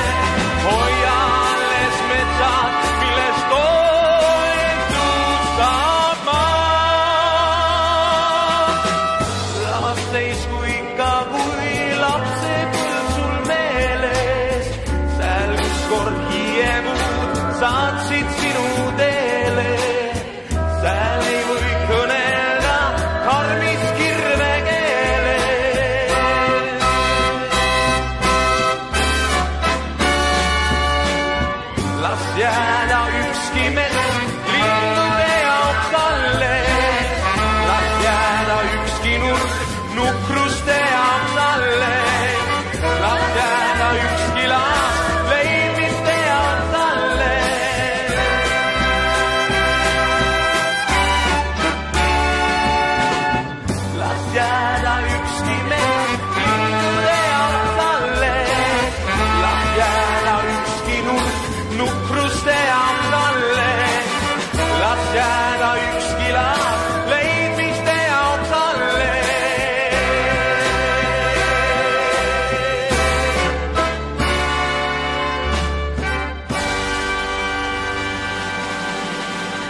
hoia alles metsad, millest toetus saab maa. Lasteis kui ikka, kui lapse põlsul meeles, sääl kus kord hiiepuud saatsid sinu teele,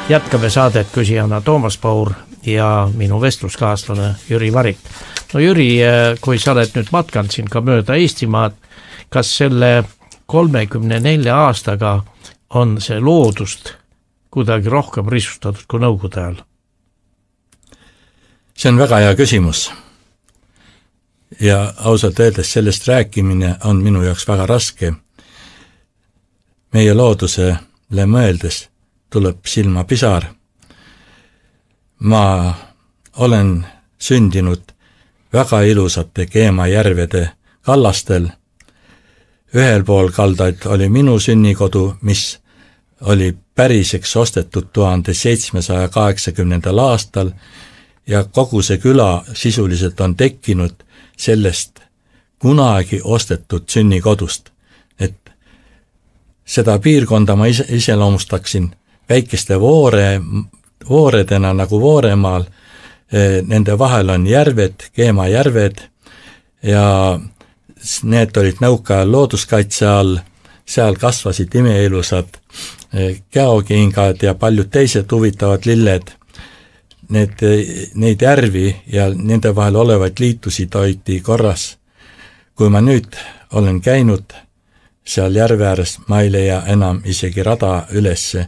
jätkame saadet küsijana Toomas Paur ja minu vestluskaaslane Jüri Varik. No Jüri, kui sa oled nüüd matkanud siin ka mööda Eestimaad, kas selle kolmekümne nelja aastaga on see loodust kuidagi rohkem risustatud kui nõukogude ajal? See on väga hea küsimus. Ja ausalt öeldes sellest rääkimine on minu jaoks väga raske. Meie loodusele mõeldes tuleb silma pisar. Ma olen sündinud väga ilusate Keemajärvede kallastel. Ühel pool kaldaid oli minu sünnikodu, mis oli päriseks ostetud tuhande seitsmesaja kaheksakümnendal aastal ja kogu see küla sisuliselt on tekkinud sellest kunagi ostetud sünnikodust. Et seda piirkonda ma ise, iseloomustaksin väikeste voore, vooredena nagu Vooremaal. Nende vahel on järved, Keemajärved ja need olid nõukaajal looduskaitse all. Seal kasvasid imeilusad käokingad ja paljud teised huvitavad lilled. Need, neid järvi ja nende vahel olevaid liitusid hoiti korras. Kui ma nüüd olen käinud seal järve ääres, ma ei leia enam isegi rada ülesse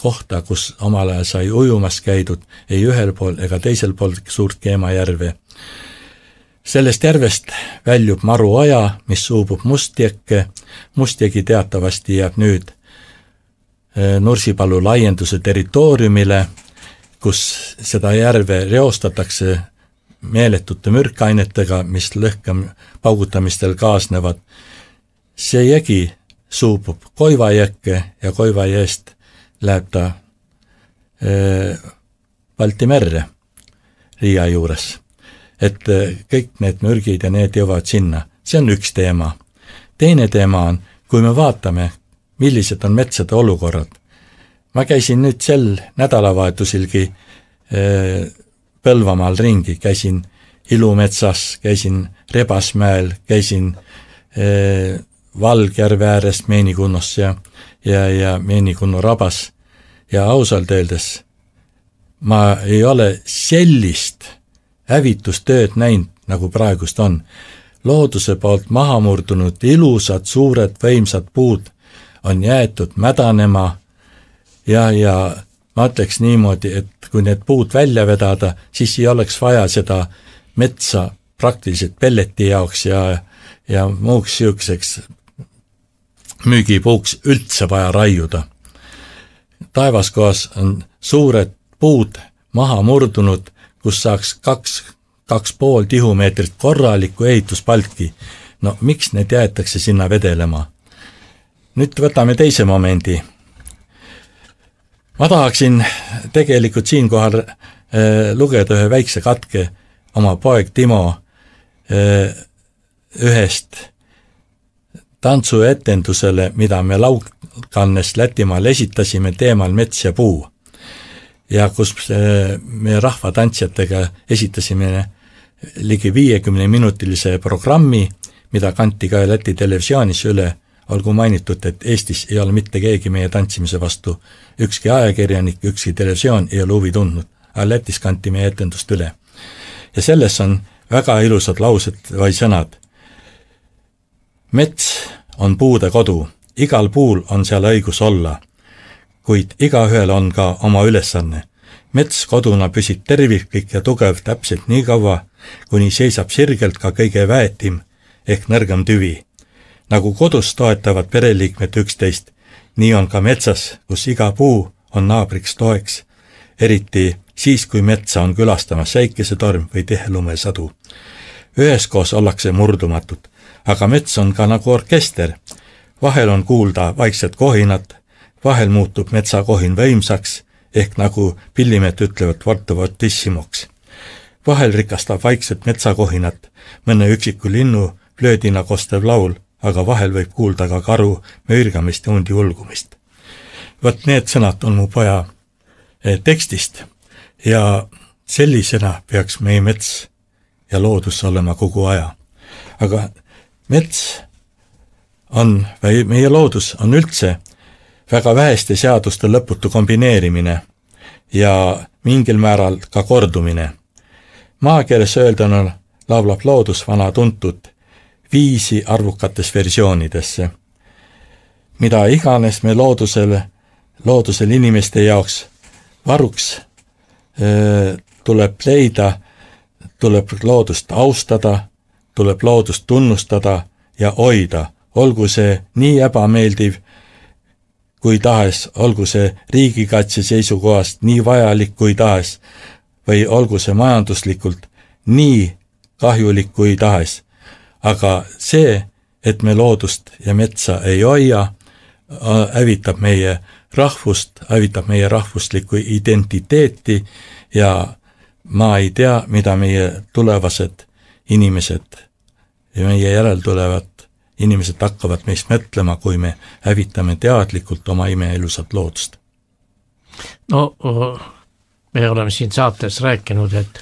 kohta, kus omal ajal sai ujumas käidud, ei ühel pool ega teisel pool suurt Keemajärve. Sellest järvest väljub Maruaja, mis suubub Mustjekke. Mustjegi teatavasti jääb nüüd Nursipalu laienduse territooriumile, kus seda järve reostatakse meeletute mürkainetega, mis lõhkem paugutamistel kaasnevad. See jõgi suubub Koivajõkke ja Koivajõest läheb ta äh, Balti merre Riia juures. Et kõik need mürgid ja need jõuavad sinna. See on üks teema. Teine teema on, kui me vaatame, millised on metsade olukorrad. Ma käisin nüüd sel nädalavahetusilgi äh, Põlvamaal ringi, käisin Ilumetsas, käisin Rebasmäel, käisin äh, Valgjärve ääres Meenikunnos ja, ja, ja Meenikunno rabas ja ausalt öeldes ma ei ole sellist hävitustööd näinud, nagu praegust on. Looduse poolt maha murdunud ilusad, suured, võimsad puud on jäetud mädanema ja, ja ma ütleks niimoodi, et kui need puud välja vedada, siis ei oleks vaja seda metsa praktiliselt pelleti jaoks ja, ja muuks siukseks müügipuuks üldse vaja raiuda. Taevaskohas on suured puud maha murdunud, kus saaks kaks, kaks pool tihumeetrit korralikku ehituspalki. No miks need jäetakse sinna vedelema? Nüüd võtame teise momendi. Ma tahaksin tegelikult siinkohal äh, lugeda ühe väikse katke oma poeg Timo äh, ühest tantsuetendusele, mida me Laukannes Lätimaal esitasime teemal mets ja puu. Ja kus me rahvatantsijatega esitasime ligi viiekümne minutilise programmi, mida kanti ka Läti televisioonis üle, olgu mainitud, et Eestis ei ole mitte keegi meie tantsimise vastu, ükski ajakirjanik, ükski televisioon ei ole huvi tundnud, aga Lätis kanti meie etendust üle. Ja selles on väga ilusad laused või sõnad. Mets on puude kodu, igal puul on seal õigus olla, kuid igaühel on ka oma ülesanne. Mets koduna püsib terviklik ja tugev täpselt nii kaua, kuni seisab sirgelt ka kõige väetim ehk nõrgem tüvi. Nagu kodus toetavad pereliikmed üksteist, nii on ka metsas, kus iga puu on naabriks toeks, eriti siis, kui metsa on külastamas säikesetorm või tihelumesadu. Üheskoos ollakse murdumatud, aga mets on ka nagu orkester. Vahel on kuulda vaikset kohinat, vahel muutub metsakohin võimsaks, ehk nagu pillimet ütlevad vortuvotissimoks. Vahel rikastab vaikset metsakohinat, mõne üksiku linnu flöödina kostev laul, aga vahel võib kuulda ka karu möirgamist ja hundi ulgumist. Võt need sõnad on mu poja tekstist ja sellisena peaks meie mets ja loodus olema kogu aja. Aga mets on, või meie loodus on üldse väga väheste seaduste lõputu kombineerimine. ja mingil määral ka kordumine. Maakeeles öelduna laulab loodus vana tuntud viisi arvukates versioonidesse. Mida iganes me loodusele, loodusel inimeste jaoks varuks öö, tuleb leida, tuleb loodust austada, tuleb loodust tunnustada ja hoida, olgu see nii ebameeldiv kui tahes, olgu see riigikaitse seisukohast nii vajalik kui tahes või olgu see majanduslikult nii kahjulik kui tahes. Aga see, et me loodust ja metsa ei hoia, hävitab meie rahvust, hävitab meie rahvuslikku identiteeti ja ma ei tea, mida meie tulevased inimesed ja meie järeltulevad inimesed hakkavad meist mõtlema, kui me hävitame teadlikult oma imeilusat loodust. No me oleme siin saates rääkinud, et,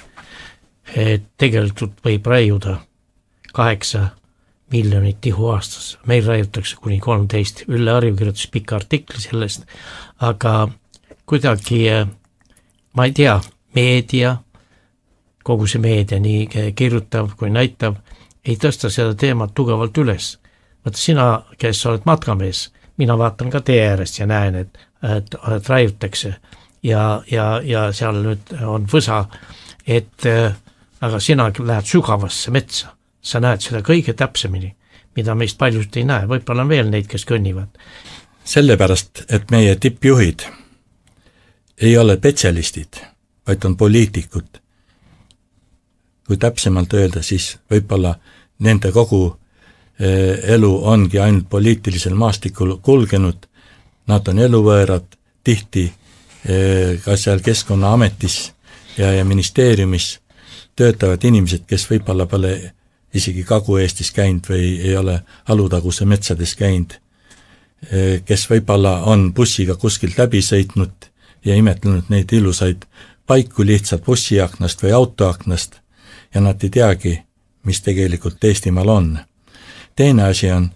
et tegelikult võib raiuda kaheksa miljonit tihu aastas. Meil raiutakse kuni kolmteist. Ülle Arju kirjutas pika artikli sellest, aga kuidagi, ma ei tea, meedia, kogu see meedia nii kirjutav kui näitav, ei tõsta seda teemat tugevalt üles. Võtta sina, kes oled matkamees, mina vaatan ka tee äärest ja näen, et, et, et raiutakse ja, ja, ja seal nüüd on võsa, et aga sina lähed sügavasse metsa. Sa näed seda kõige täpsemini, mida meist paljust ei näe. Võib-olla on veel neid, kes kõnnivad. Sellepärast, et meie tippjuhid ei ole spetsialistid, vaid on poliitikud. Kui täpsemalt öelda, siis võib-olla nende kogu elu ongi ainult poliitilisel maastikul kulgenud. Nad on eluvõõrad, tihti ka seal Keskkonnaametis ja, ja ministeeriumis töötavad inimesed, kes võib-olla pole isegi Kagu-Eestis käinud või ei ole Alutaguse metsades käinud, kes võib-olla on bussiga kuskilt läbi sõitnud ja imetlenud neid ilusaid paiku lihtsalt bussiaknast või autoaknast ja nad ei teagi, mis tegelikult Eestimaal on. Teine asi on,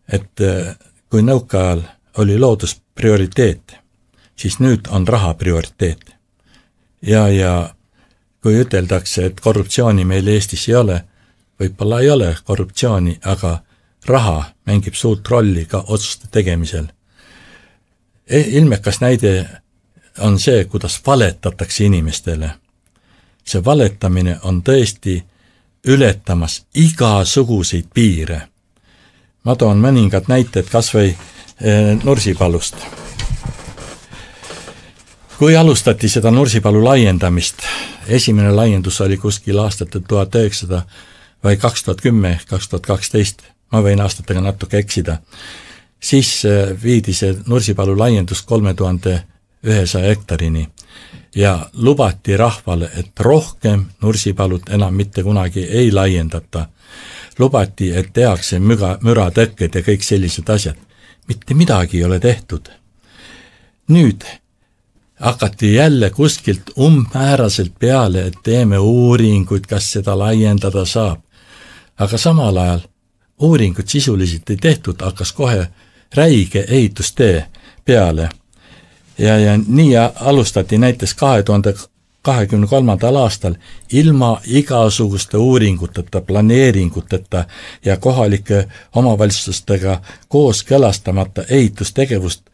et kui nõukaajal oli loodus prioriteet, siis nüüd on raha prioriteet. Ja, ja kui üteldakse, et korruptsiooni meil Eestis ei ole, võib-olla ei ole korruptsiooni, aga raha mängib suurt rolli ka otsuste tegemisel. Ilmekas näide on see, kuidas valetatakse inimestele. See valetamine on tõesti ületamas igasuguseid piire. Ma toon mõningad näited kas või Nursipalust. Kui alustati seda Nursipalu laiendamist, esimene laiendus oli kuskil aastate tuhat üheksasada või kaks tuhat kümme, kaks tuhat kaksteist, ma võin aastatega natuke eksida, siis viidi see Nursipalu laiendus kolme tuhande ühesaja hektarini ja lubati rahvale, et rohkem Nursipalut enam mitte kunagi ei laiendata. Lubati, et tehakse müra, müratõkked ja kõik sellised asjad. Mitte midagi ei ole tehtud. Nüüd hakati jälle kuskilt umbmääraselt peale, et teeme uuringuid, kas seda laiendada saab. Aga samal ajal uuringuid sisuliselt ei tehtud, hakkas kohe räige ehitustee peale. Ja, ja nii alustati näiteks kahe tuhande kahekümne kolmandal aastal ilma igasuguste uuringuteta, planeeringuteta ja kohalike omavalitsustega koos kõlastamata ehitustegevust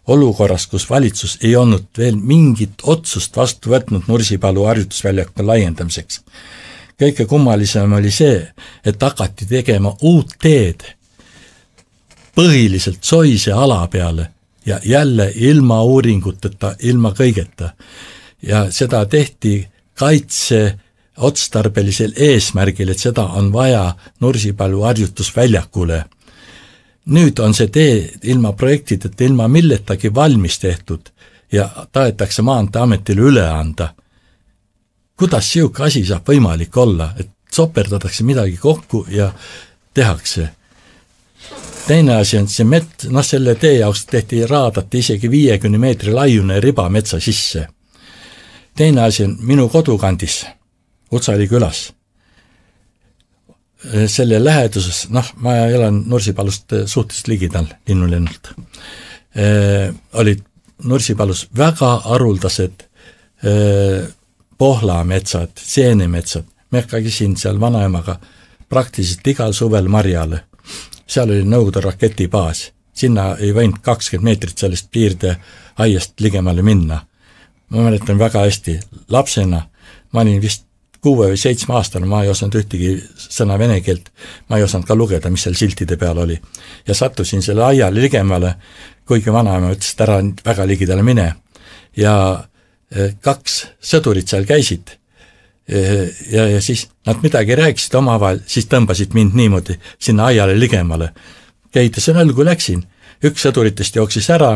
olukorras, kus valitsus ei olnud veel mingit otsust vastu võtnud Nursipalu harjutusväljaku laiendamiseks. Kõige kummalisem oli see, et hakati tegema uut teed põhiliselt soise ala peale ja jälle ilma uuringuteta, ilma kõigeta. Ja seda tehti kaitse otstarbelisel eesmärgil, et seda on vaja Nursipalu harjutusväljakule. Nüüd on see tee ilma projektideta, ilma milletagi valmis tehtud ja tahetakse Maanteeametile üle anda. Kuidas siuke asi saab võimalik olla, et soperdatakse midagi kokku ja tehakse? Teine asi on see met, noh selle tee jaoks tehti raadati isegi viiekümne meetri laiune riba metsa sisse. Teine asi on minu kodukandis, Utsali külas. Selle läheduses, noh, ma elan Nursipalust suhteliselt ligidal linnulennult, olid Nursipalus väga haruldased pohlametsad, seenemetsad, me käisin seal vanaemaga praktiliselt igal suvel marjale. Seal oli Nõukogude raketibaas, sinna ei võinud kakskümmend meetrit sellest piirde aiast ligemale minna. Ma mäletan väga hästi, lapsena, ma olin vist kuue või seitsme aastane, ma ei osanud ühtegi sõna vene keelt, ma ei osanud ka lugeda, mis seal siltide peal oli. Ja sattusin selle aiale ligemale, kuigi vanaema ütles, et ära väga ligidale mine. Ja kaks sõdurit seal käisid ja, ja siis nad midagi rääkisid omavahel, siis tõmbasid mind niimoodi sinna aiale ligemale. Käitasin õlgu läksin, üks sõduritest jooksis ära,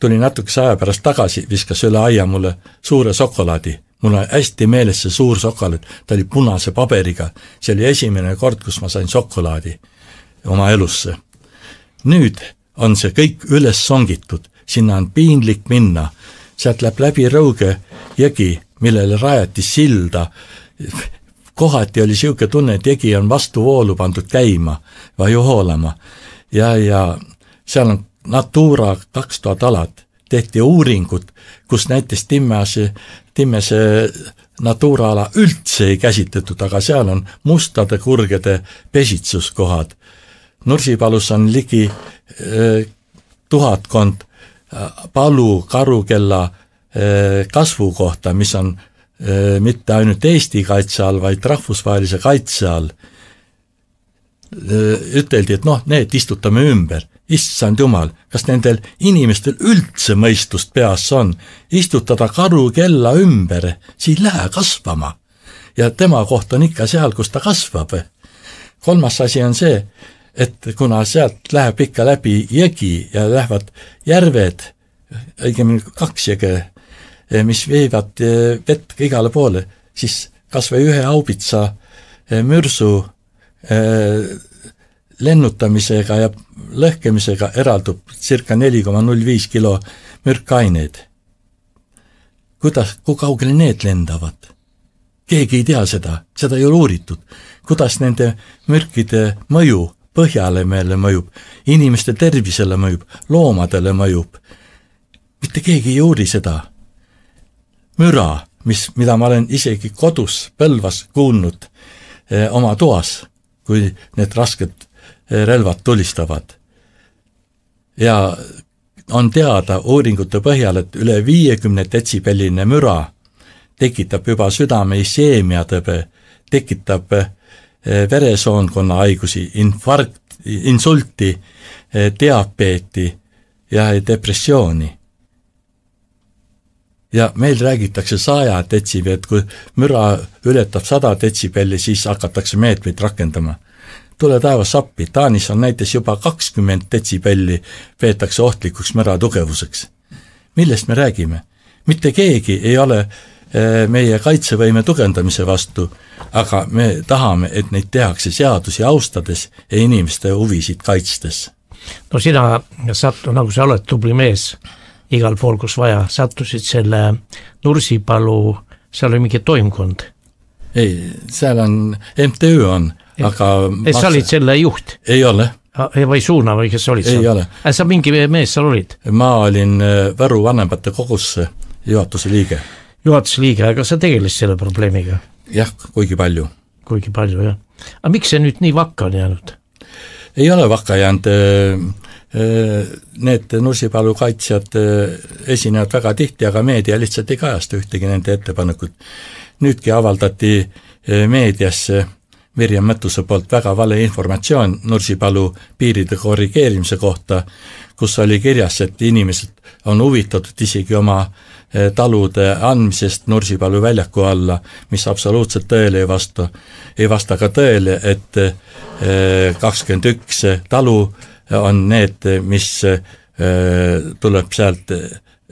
tuli natukese aja pärast tagasi, viskas üle aia mulle suure sokolaadi. Mul on hästi meeles see suur sokolaad, ta oli punase paberiga, see oli esimene kord, kus ma sain sokolaadi oma elusse. Nüüd on see kõik üles songitud, sinna on piinlik minna, sealt läheb läbi Rõuge jõgi, millele rajati silda. Kohati oli siuke tunne, et jõgi on vastu voolu pandud käima või hoolama. Ja, ja seal on Natura kaks tuhat alad, tehti uuringut, kus näiteks Timmese, Timmese Natura ala üldse ei käsitletud, aga seal on mustade kurgede pesitsuskohad. Nursipalus on ligi eh, tuhatkond palu karukella kasvu kohta, mis on mitte ainult Eesti kaitse all, vaid rahvusvahelise kaitse all. Üteldi, et noh, need istutame ümber. Issand jumal, kas nendel inimestel üldse mõistust peas on? Istutada karukella ümber, siin lähe kasvama. Ja tema koht on ikka seal, kus ta kasvab. Kolmas asi on see, et kuna sealt läheb ikka läbi jõgi ja lähevad järved, õigemini kaks jõge, mis viivad vett igale poole, siis kas või ühe haubitsa mürsu lennutamisega ja lõhkemisega eraldub circa neli koma null viis kilo mürkaineid. Kuidas, kui kaugele need lendavad? Keegi ei tea seda, seda ei ole uuritud. Kuidas nende mürkide mõju põhjale meile mõjub, inimeste tervisele mõjub, loomadele mõjub. Mitte keegi ei uuri seda. Müra, mis, mida ma olen isegi kodus Põlvas kuulnud eh, oma toas, kui need rasked eh, relvad tulistavad. Ja on teada uuringute põhjal, et üle viiekümne detsibelline müra tekitab juba südame iseemiatõbe, tekitab eh, veresoonkonna haigusi, infarkt, insulti, diabeeti ja depressiooni. Ja meil räägitakse saja detsibelli, et kui müra ületab sada detsibelli, siis hakatakse meetmeid rakendama. Tule taevas appi, Taanis on näiteks juba kakskümmend detsibelli peetakse ohtlikuks müra tugevuseks. Millest me räägime? Mitte keegi ei ole meie kaitsevõime tugevdamise vastu, aga me tahame, et neid tehakse seadusi austades ja inimeste huvisid kaitstes. No sina sattu, nagu sa oled tubli mees, igal pool, kus vaja, sattusid selle Nursipalu, seal oli mingi toimkond. Ei, seal on, M T Ü on, aga... Et sa olid selle juht? Ei ole. Või suuna või kes olid seal? Ei ole. Sa mingi mees seal olid? Ma olin Võru vanemate kogusse juhatuse liige. Juhatuse liige, aga sa tegelesid selle probleemiga? Jah, kuigi palju. Kuigi palju, jah. Aga miks see nüüd nii vakka on jäänud? Ei ole vakka jäänud. Need Nursipalu kaitsjad esinevad väga tihti, aga meedia lihtsalt ei kajasta ühtegi nende ettepanekut. Nüüdki avaldati meediasse Mirjam Mõttuse poolt väga vale informatsioon Nursipalu piiride korrigeerimise kohta, kus oli kirjas, et inimesed on huvitatud isegi oma talude andmisest Nursipalu väljaku alla, mis absoluutselt tõele ei vasta. Ei vasta ka tõele, et kakskümmend üks talu on need, mis tuleb sealt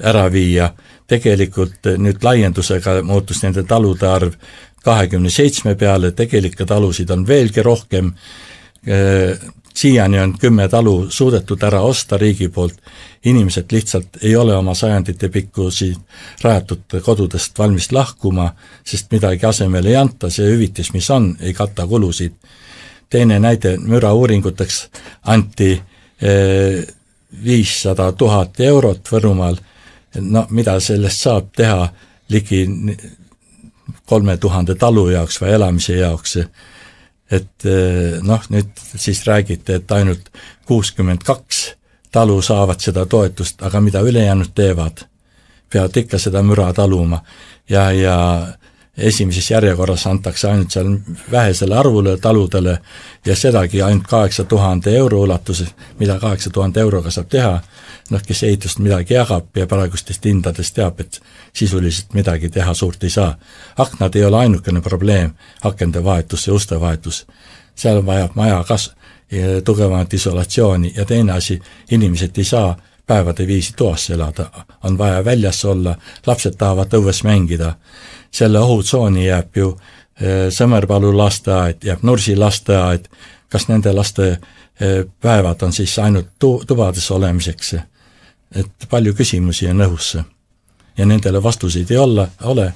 ära viia. Tegelikult nüüd laiendusega muutus nende talude arv kahekümne seitsme peale, tegelikke talusid on veelgi rohkem. Siiani on kümme talu suudetud ära osta riigi poolt. Inimesed lihtsalt ei ole oma sajandite pikkusi rajatud kodudest valmis lahkuma, sest midagi asemel ei anta, see hüvitis, mis on, ei katta kulusid. Teine näide, müra uuringuteks anti viissada tuhat eurot Võrumaal. No mida sellest saab teha ligi kolme tuhande talu jaoks või elamise jaoks, et noh, nüüd siis räägite, et ainult kuuskümmend kaks talu saavad seda toetust, aga mida ülejäänud teevad, peavad ikka seda müra taluma ja, ja esimeses järjekorras antakse ainult seal vähesele arvule taludele ja sedagi ainult kaheksa tuhande euro ulatuses, mida kaheksa tuhande euroga saab teha, noh, kes ehitust midagi jagab ja praegustest hindadest teab, et sisuliselt midagi teha suurt ei saa. Aknad ei ole ainukene probleem, akende vahetus ja uste vahetus. Seal vajab maja kas tugevamat isolatsiooni ja teine asi, inimesed ei saa päevade viisi toas elada, on vaja väljas olla, lapsed tahavad õues mängida. Selle ohutsooni jääb ju Sõmerpalu lasteaed, jääb Nursi lasteaed, kas nende laste päevad on siis ainult tu- tubades olemiseks, et palju küsimusi on õhusse ja nendele vastuseid ei ole, ole.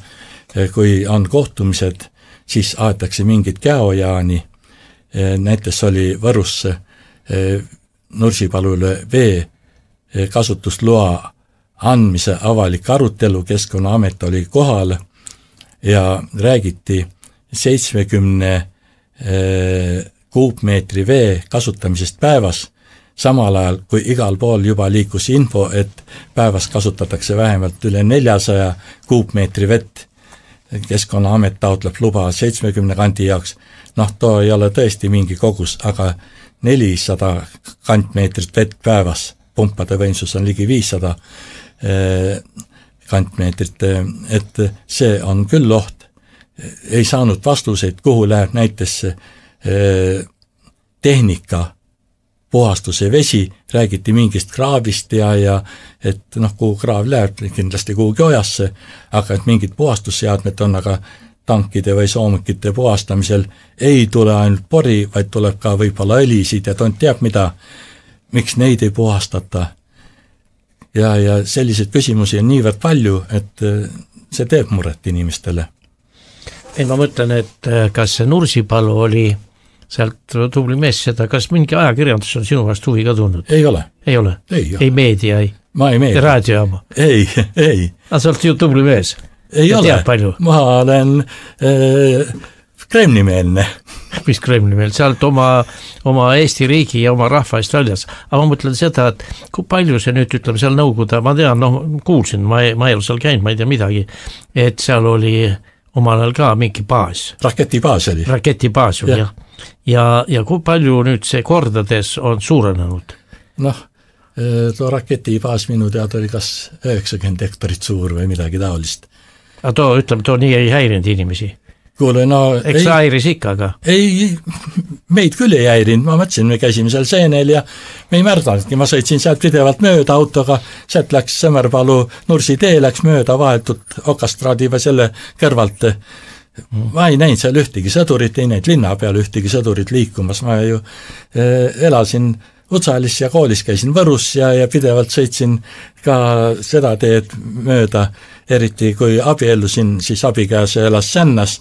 Kui on kohtumised, siis aetakse mingit käojaani, näiteks oli Võrus Nursipalule vee kasutusloa andmise avalik arutelu, Keskkonnaamet oli kohal ja räägiti seitsmekümne kuupmeetri vee kasutamisest päevas, samal ajal kui igal pool juba liikus info, et päevas kasutatakse vähemalt üle neljasaja kuupmeetri vett. Keskkonnaamet taotleb luba seitsmekümne kandi jaoks, noh, too ei ole tõesti mingi kogus, aga nelisada kantmeetrit vett päevas, pumpade võimsus on ligi viissada kantmeetrit, et see on küll oht. Ei saanud vastuseid, kuhu läheb näiteks tehnika, puhastuse vesi, räägiti mingist kraavist ja, ja et noh, kuhu kraav läheb, kindlasti kuhugi ojasse, aga et mingid puhastusseadmed on, aga tankide või soomukite puhastamisel ei tule ainult pori, vaid tuleb ka võib-olla õlisid ja tont teab mida, miks neid ei puhastata. Ja, ja selliseid küsimusi on niivõrd palju, et see teeb muret inimestele. Ei, ma mõtlen, et kas see Nursipalu oli sealt tubli mees seda, kas mingi ajakirjandus on sinu vastu huvi ka tulnud? Ei ole. Ei ole? Ei, ei meedia, ei? Ma ei meedia. Raadiojaama? Ei, ei. Aga sa oled ju tubli mees? Ei ja ole. Ma olen äh, Kremli-meelne. Mis Kremli-meelne? Sa oled oma, oma Eesti riigi ja oma rahva eest väljas. Aga ma mõtlen seda, et kui palju see nüüd, ütleme, seal Nõukogude, ma tean, noh, kuulsin, ma ei, ma ei ole seal käinud, ma ei tea midagi, et seal oli omal ajal ka mingi baas. Raketibaas oli. Raketibaas oli, jah. Ja, ja kui palju nüüd see kordades on suurenenud? Noh, too raketibaas minu teada oli kas üheksakümmend hektarit suur või midagi taolist. Aga too, ütleme, too nii ei häirinud inimesi? Kuule, no... Eks sa häiris ikka, aga? Ei, meid küll ei häirinud, ma mõtlesin, me käisime seal seenel ja me ei märdanudki, ma sõitsin sealt pidevalt mööda autoga, sealt läks Sõmerpalu Nursi tee, läks mööda vahetult Okastraadi või selle kõrvalt. Ma ei näinud seal ühtegi sõdurit, ei näinud linna peal ühtegi sõdurit liikumas, ma ju eh, elasin Utsalis ja koolis käisin Võrus ja, ja pidevalt sõitsin ka seda teed mööda, eriti kui abiellusin, siis abikäese elas Sännas,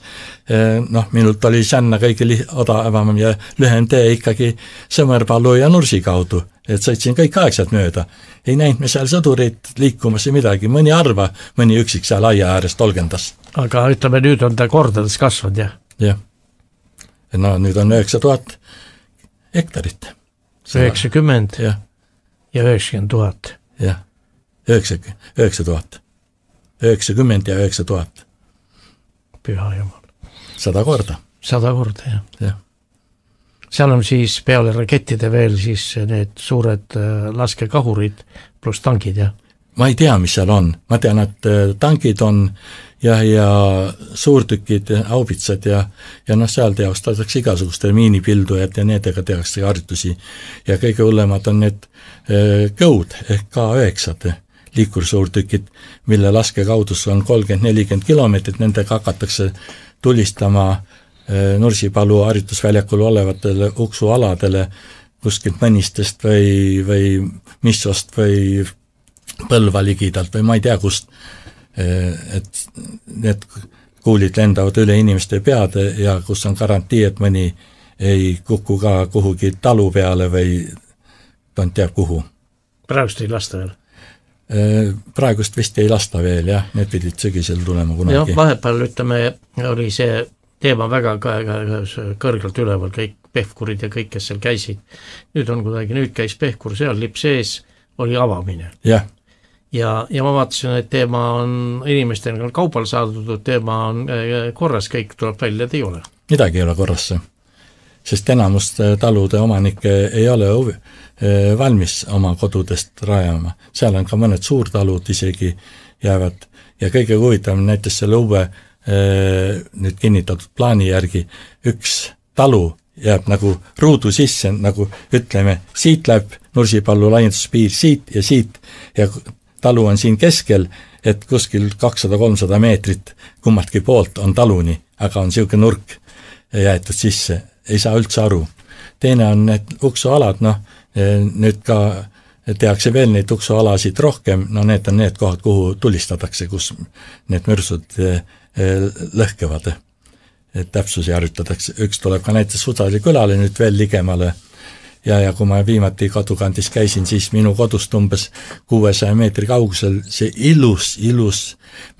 noh, minult oli Sänna kõige odavam ja lühem tee ikkagi Sõmerpalu ja Nursi kaudu, et sõitsin kõik aegselt mööda. Ei näinud me seal sõdurit liikumas ja midagi, mõni arva, mõni üksik seal aia äärest olgendas. Aga ütleme, nüüd on ta kordades kasvanud, jah? Jah. No nüüd on üheksa tuhat hektarit. üheksakümmend ja, ja üheksakümmend tuhat. Jah, üheksa tuhat. üheksakümmend ja üheksa tuhat. Püha jumal. Sada korda. Sada korda, jah. Ja. Seal on siis peale rakettide veel siis need suured laskekahurid pluss tankid, jah? Ma ei tea, mis seal on. Ma tean, et tankid on ja, ja suurtükid, aubitsad ja, ja noh, seal teostatakse igasuguste miinipildujad ja nendega tehakse harjutusi. Ja kõige hullemad on need kõud ehk K üheksa liikursuurtükid, mille laskekaudus on kolmkümmend nelikümmend kilomeetrit, nendega hakatakse tulistama Nursipalu harjutusväljakul olevatele uksualadele kuskilt Mõnistest või, või Missost või Põlva ligidalt või ma ei tea kust, et need kuulid lendavad üle inimeste peade ja kus on garantii, et mõni ei kuku ka kuhugi talu peale või ta teab kuhu. Praegust ei lasta veel? praegust vist ei lasta veel, jah, need pidid sügisel tulema kunagi. jah, vahepeal ütleme, oli see teema väga kõrgelt üleval, kõik pehkurid ja kõik, kes seal käisid. Nüüd on kuidagi, nüüd käis pehkur seal, lipp sees, oli avamine. jah. ja, ja ma vaatasin, et teema on inimestel kaupal saadud, teema on korras, kõik tuleb välja, et ei ole. Midagi ei ole korras, sest enamust talude omanikke ei ole valmis oma kodudest rajama. Seal on ka mõned suurtalud isegi jäävad ja kõige huvitavam näiteks selle uue nüüd kinnitatud plaani järgi üks talu jääb nagu ruudu sisse, nagu ütleme, siit läheb Nursipalu laienduspiir siit ja siit ja talu on siin keskel, et kuskil kakssada kolmsada meetrit kummaltki poolt on taluni, aga on siuke nurk jäetud sisse, ei saa üldse aru. Teine on need uksualad, noh, nüüd ka tehakse veel neid uksualasid rohkem, no need on need kohad, kuhu tulistatakse, kus need mürsud lõhkevad. Et täpsusi harjutatakse. Üks tuleb ka näiteks Sudali külale nüüd veel ligemale ja, ja kui ma viimati kodukandis käisin, siis minu kodust umbes kuuesaja meetri kaugusel see ilus, ilus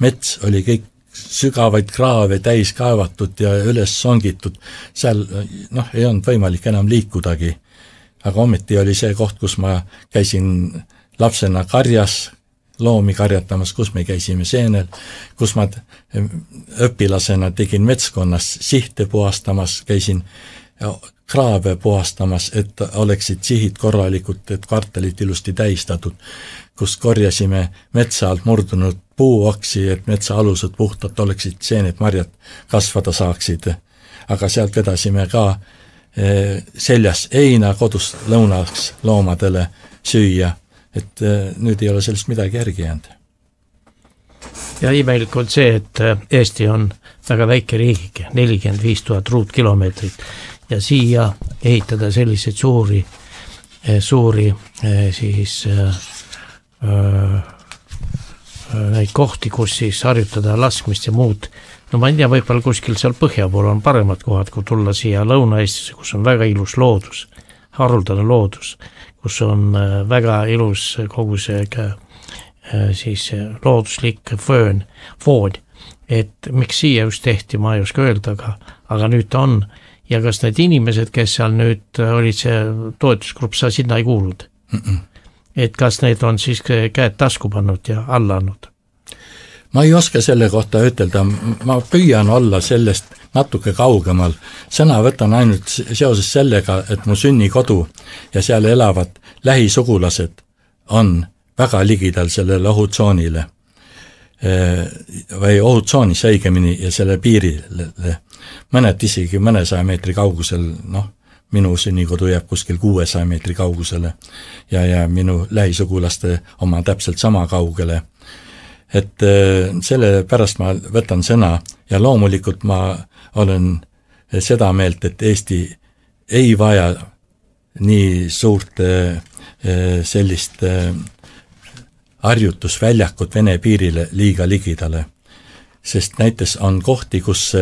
mets oli kõik sügavaid kraave täis kaevatud ja üles songitud. Seal noh, ei olnud võimalik enam liikudagi. Aga ometi oli see koht, kus ma käisin lapsena karjas, loomi karjatamas, kus me käisime seenel, kus ma õpilasena tegin metskonnas sihte puhastamas, käisin kraave puhastamas, et oleksid sihid korralikud, et kvartalid ilusti täistatud, kus korjasime metsa alt murdunud puuoksi, et metsa alused puhtalt oleksid seened marjad kasvada saaksid. Aga sealt vedasime ka seljas heina kodus lõunaks loomadele süüa, et nüüd ei ole sellest midagi järgi jäänud. Ja imelik on see, et Eesti on väga väike riigike, nelikümmend viis tuhat ruutkilomeetrit ja siia ehitada selliseid suuri, suuri siis äh, neid kohti, kus siis harjutada laskmist ja muud. No ma ei tea, võib-olla kuskil seal põhja pool on paremad kohad, kui tulla siia Lõuna-Eestisse, kus on väga ilus loodus, haruldane loodus, kus on väga ilus kogu see siis looduslik föön, foon, et miks siia just tehti, ma ei oska öelda, aga, aga nüüd on. Ja kas need inimesed, kes seal nüüd olid see toetusgrupp, sa sinna ei kuulnud? Mm -mm. Et kas need on siis käed tasku pannud ja alla andnud? Ma ei oska selle kohta ütelda, ma püüan olla sellest natuke kaugemal. Sõna võtan ainult seoses sellega, et mu sünnikodu ja seal elavad lähisugulased on väga ligidal sellele ohutsoonile või ohutsoonis õigemini ja selle piirile. Mõned isegi mõnesaja meetri kaugusel, noh, minu sünnikodu jääb kuskil kuuesaja meetri kaugusele ja, ja minu lähisugulaste oma täpselt sama kaugele. Et selle pärast ma võtan sõna ja loomulikult ma olen seda meelt, et Eesti ei vaja nii suurt sellist harjutusväljakut Vene piirile liiga ligidale, sest näiteks on kohti, kus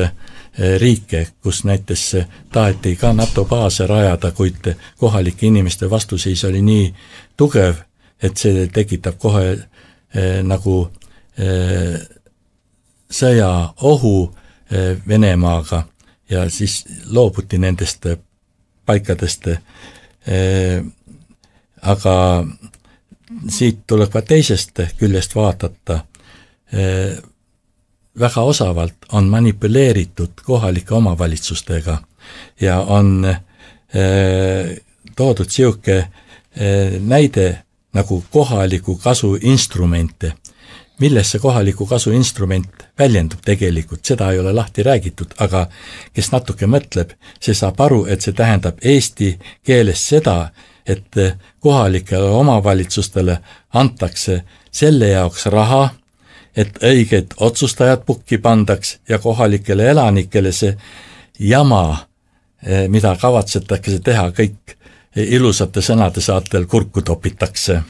riike, kus näiteks taheti ka NATO baase rajada, kuid kohalike inimeste vastuseis oli nii tugev, et see tekitab kohe eh, nagu eh, sõja ohu eh, Venemaaga ja siis loobuti nendest paikadest. Eh, aga siit tuleb ka teisest küljest vaadata. Eh, väga osavalt on manipuleeritud kohalike omavalitsustega ja on eh, toodud siuke eh, näide nagu kohaliku kasu instrumente, milles see kohaliku kasu instrument väljendub tegelikult, seda ei ole lahti räägitud, aga kes natuke mõtleb, see saab aru, et see tähendab eesti keeles seda, et kohalikele omavalitsustele antakse selle jaoks raha, et õiged otsustajad pukki pandaks ja kohalikele elanikele see jama, mida kavatsetakse teha, kõik ilusate sõnade saatel kurku topitakse.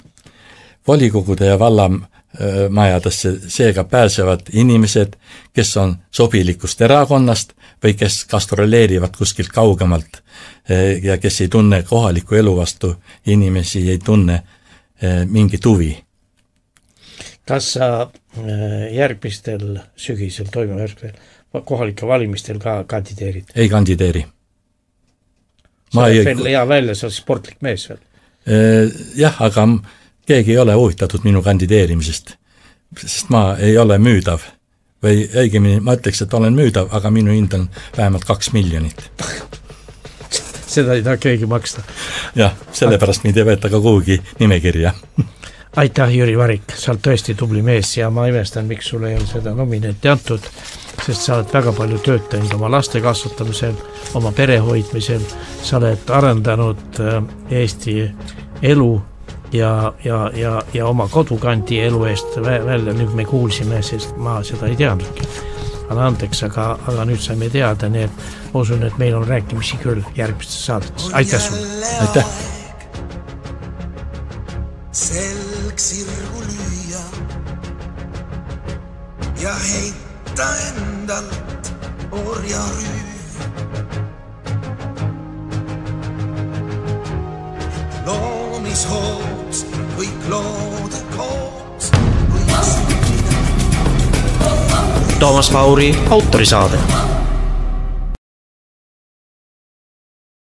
Volikogude ja vallamajadesse seega pääsevad inimesed, kes on sobilikust erakonnast või kes gastroleerivad kuskilt kaugemalt ja kes ei tunne kohaliku elu vastu, inimesi ei tunne mingit huvi. kas sa järgmistel sügisel toimuva järgmisel kohalike valimistel ka kandideerid? Ei kandideeri. sa oled veel hea välja, sa oled sportlik mees veel? Jah, aga keegi ei ole huvitatud minu kandideerimisest, sest ma ei ole müüdav või õigemini ma ütleks, et olen müüdav, aga minu hind on vähemalt kaks miljonit. Seda ei taha keegi maksta. Jah, sellepärast mind ei võeta ka kuhugi nimekirja. Aitäh, Jüri Varik, sa oled tõesti tubli mees ja ma imestan, miks sulle ei ole seda nomineeti antud, sest sa oled väga palju tööd teinud oma laste kasvatamisel, oma pere hoidmisel, sa oled arendanud Eesti elu ja, ja, ja, ja oma kodukandi elu eest välja, nüüd me kuulsime, sest ma seda ei teadnudki. Anna andeks, aga, aga nüüd saime teada, nii et ma usun, et meil on rääkimisi küll järgmistes saadetes. Aitäh sulle! Aitäh! Selg sirgu lüüa ja heita endalt orja rüü. Loomishoots kõik loode koos võiks Toomas Pauri autorisaade.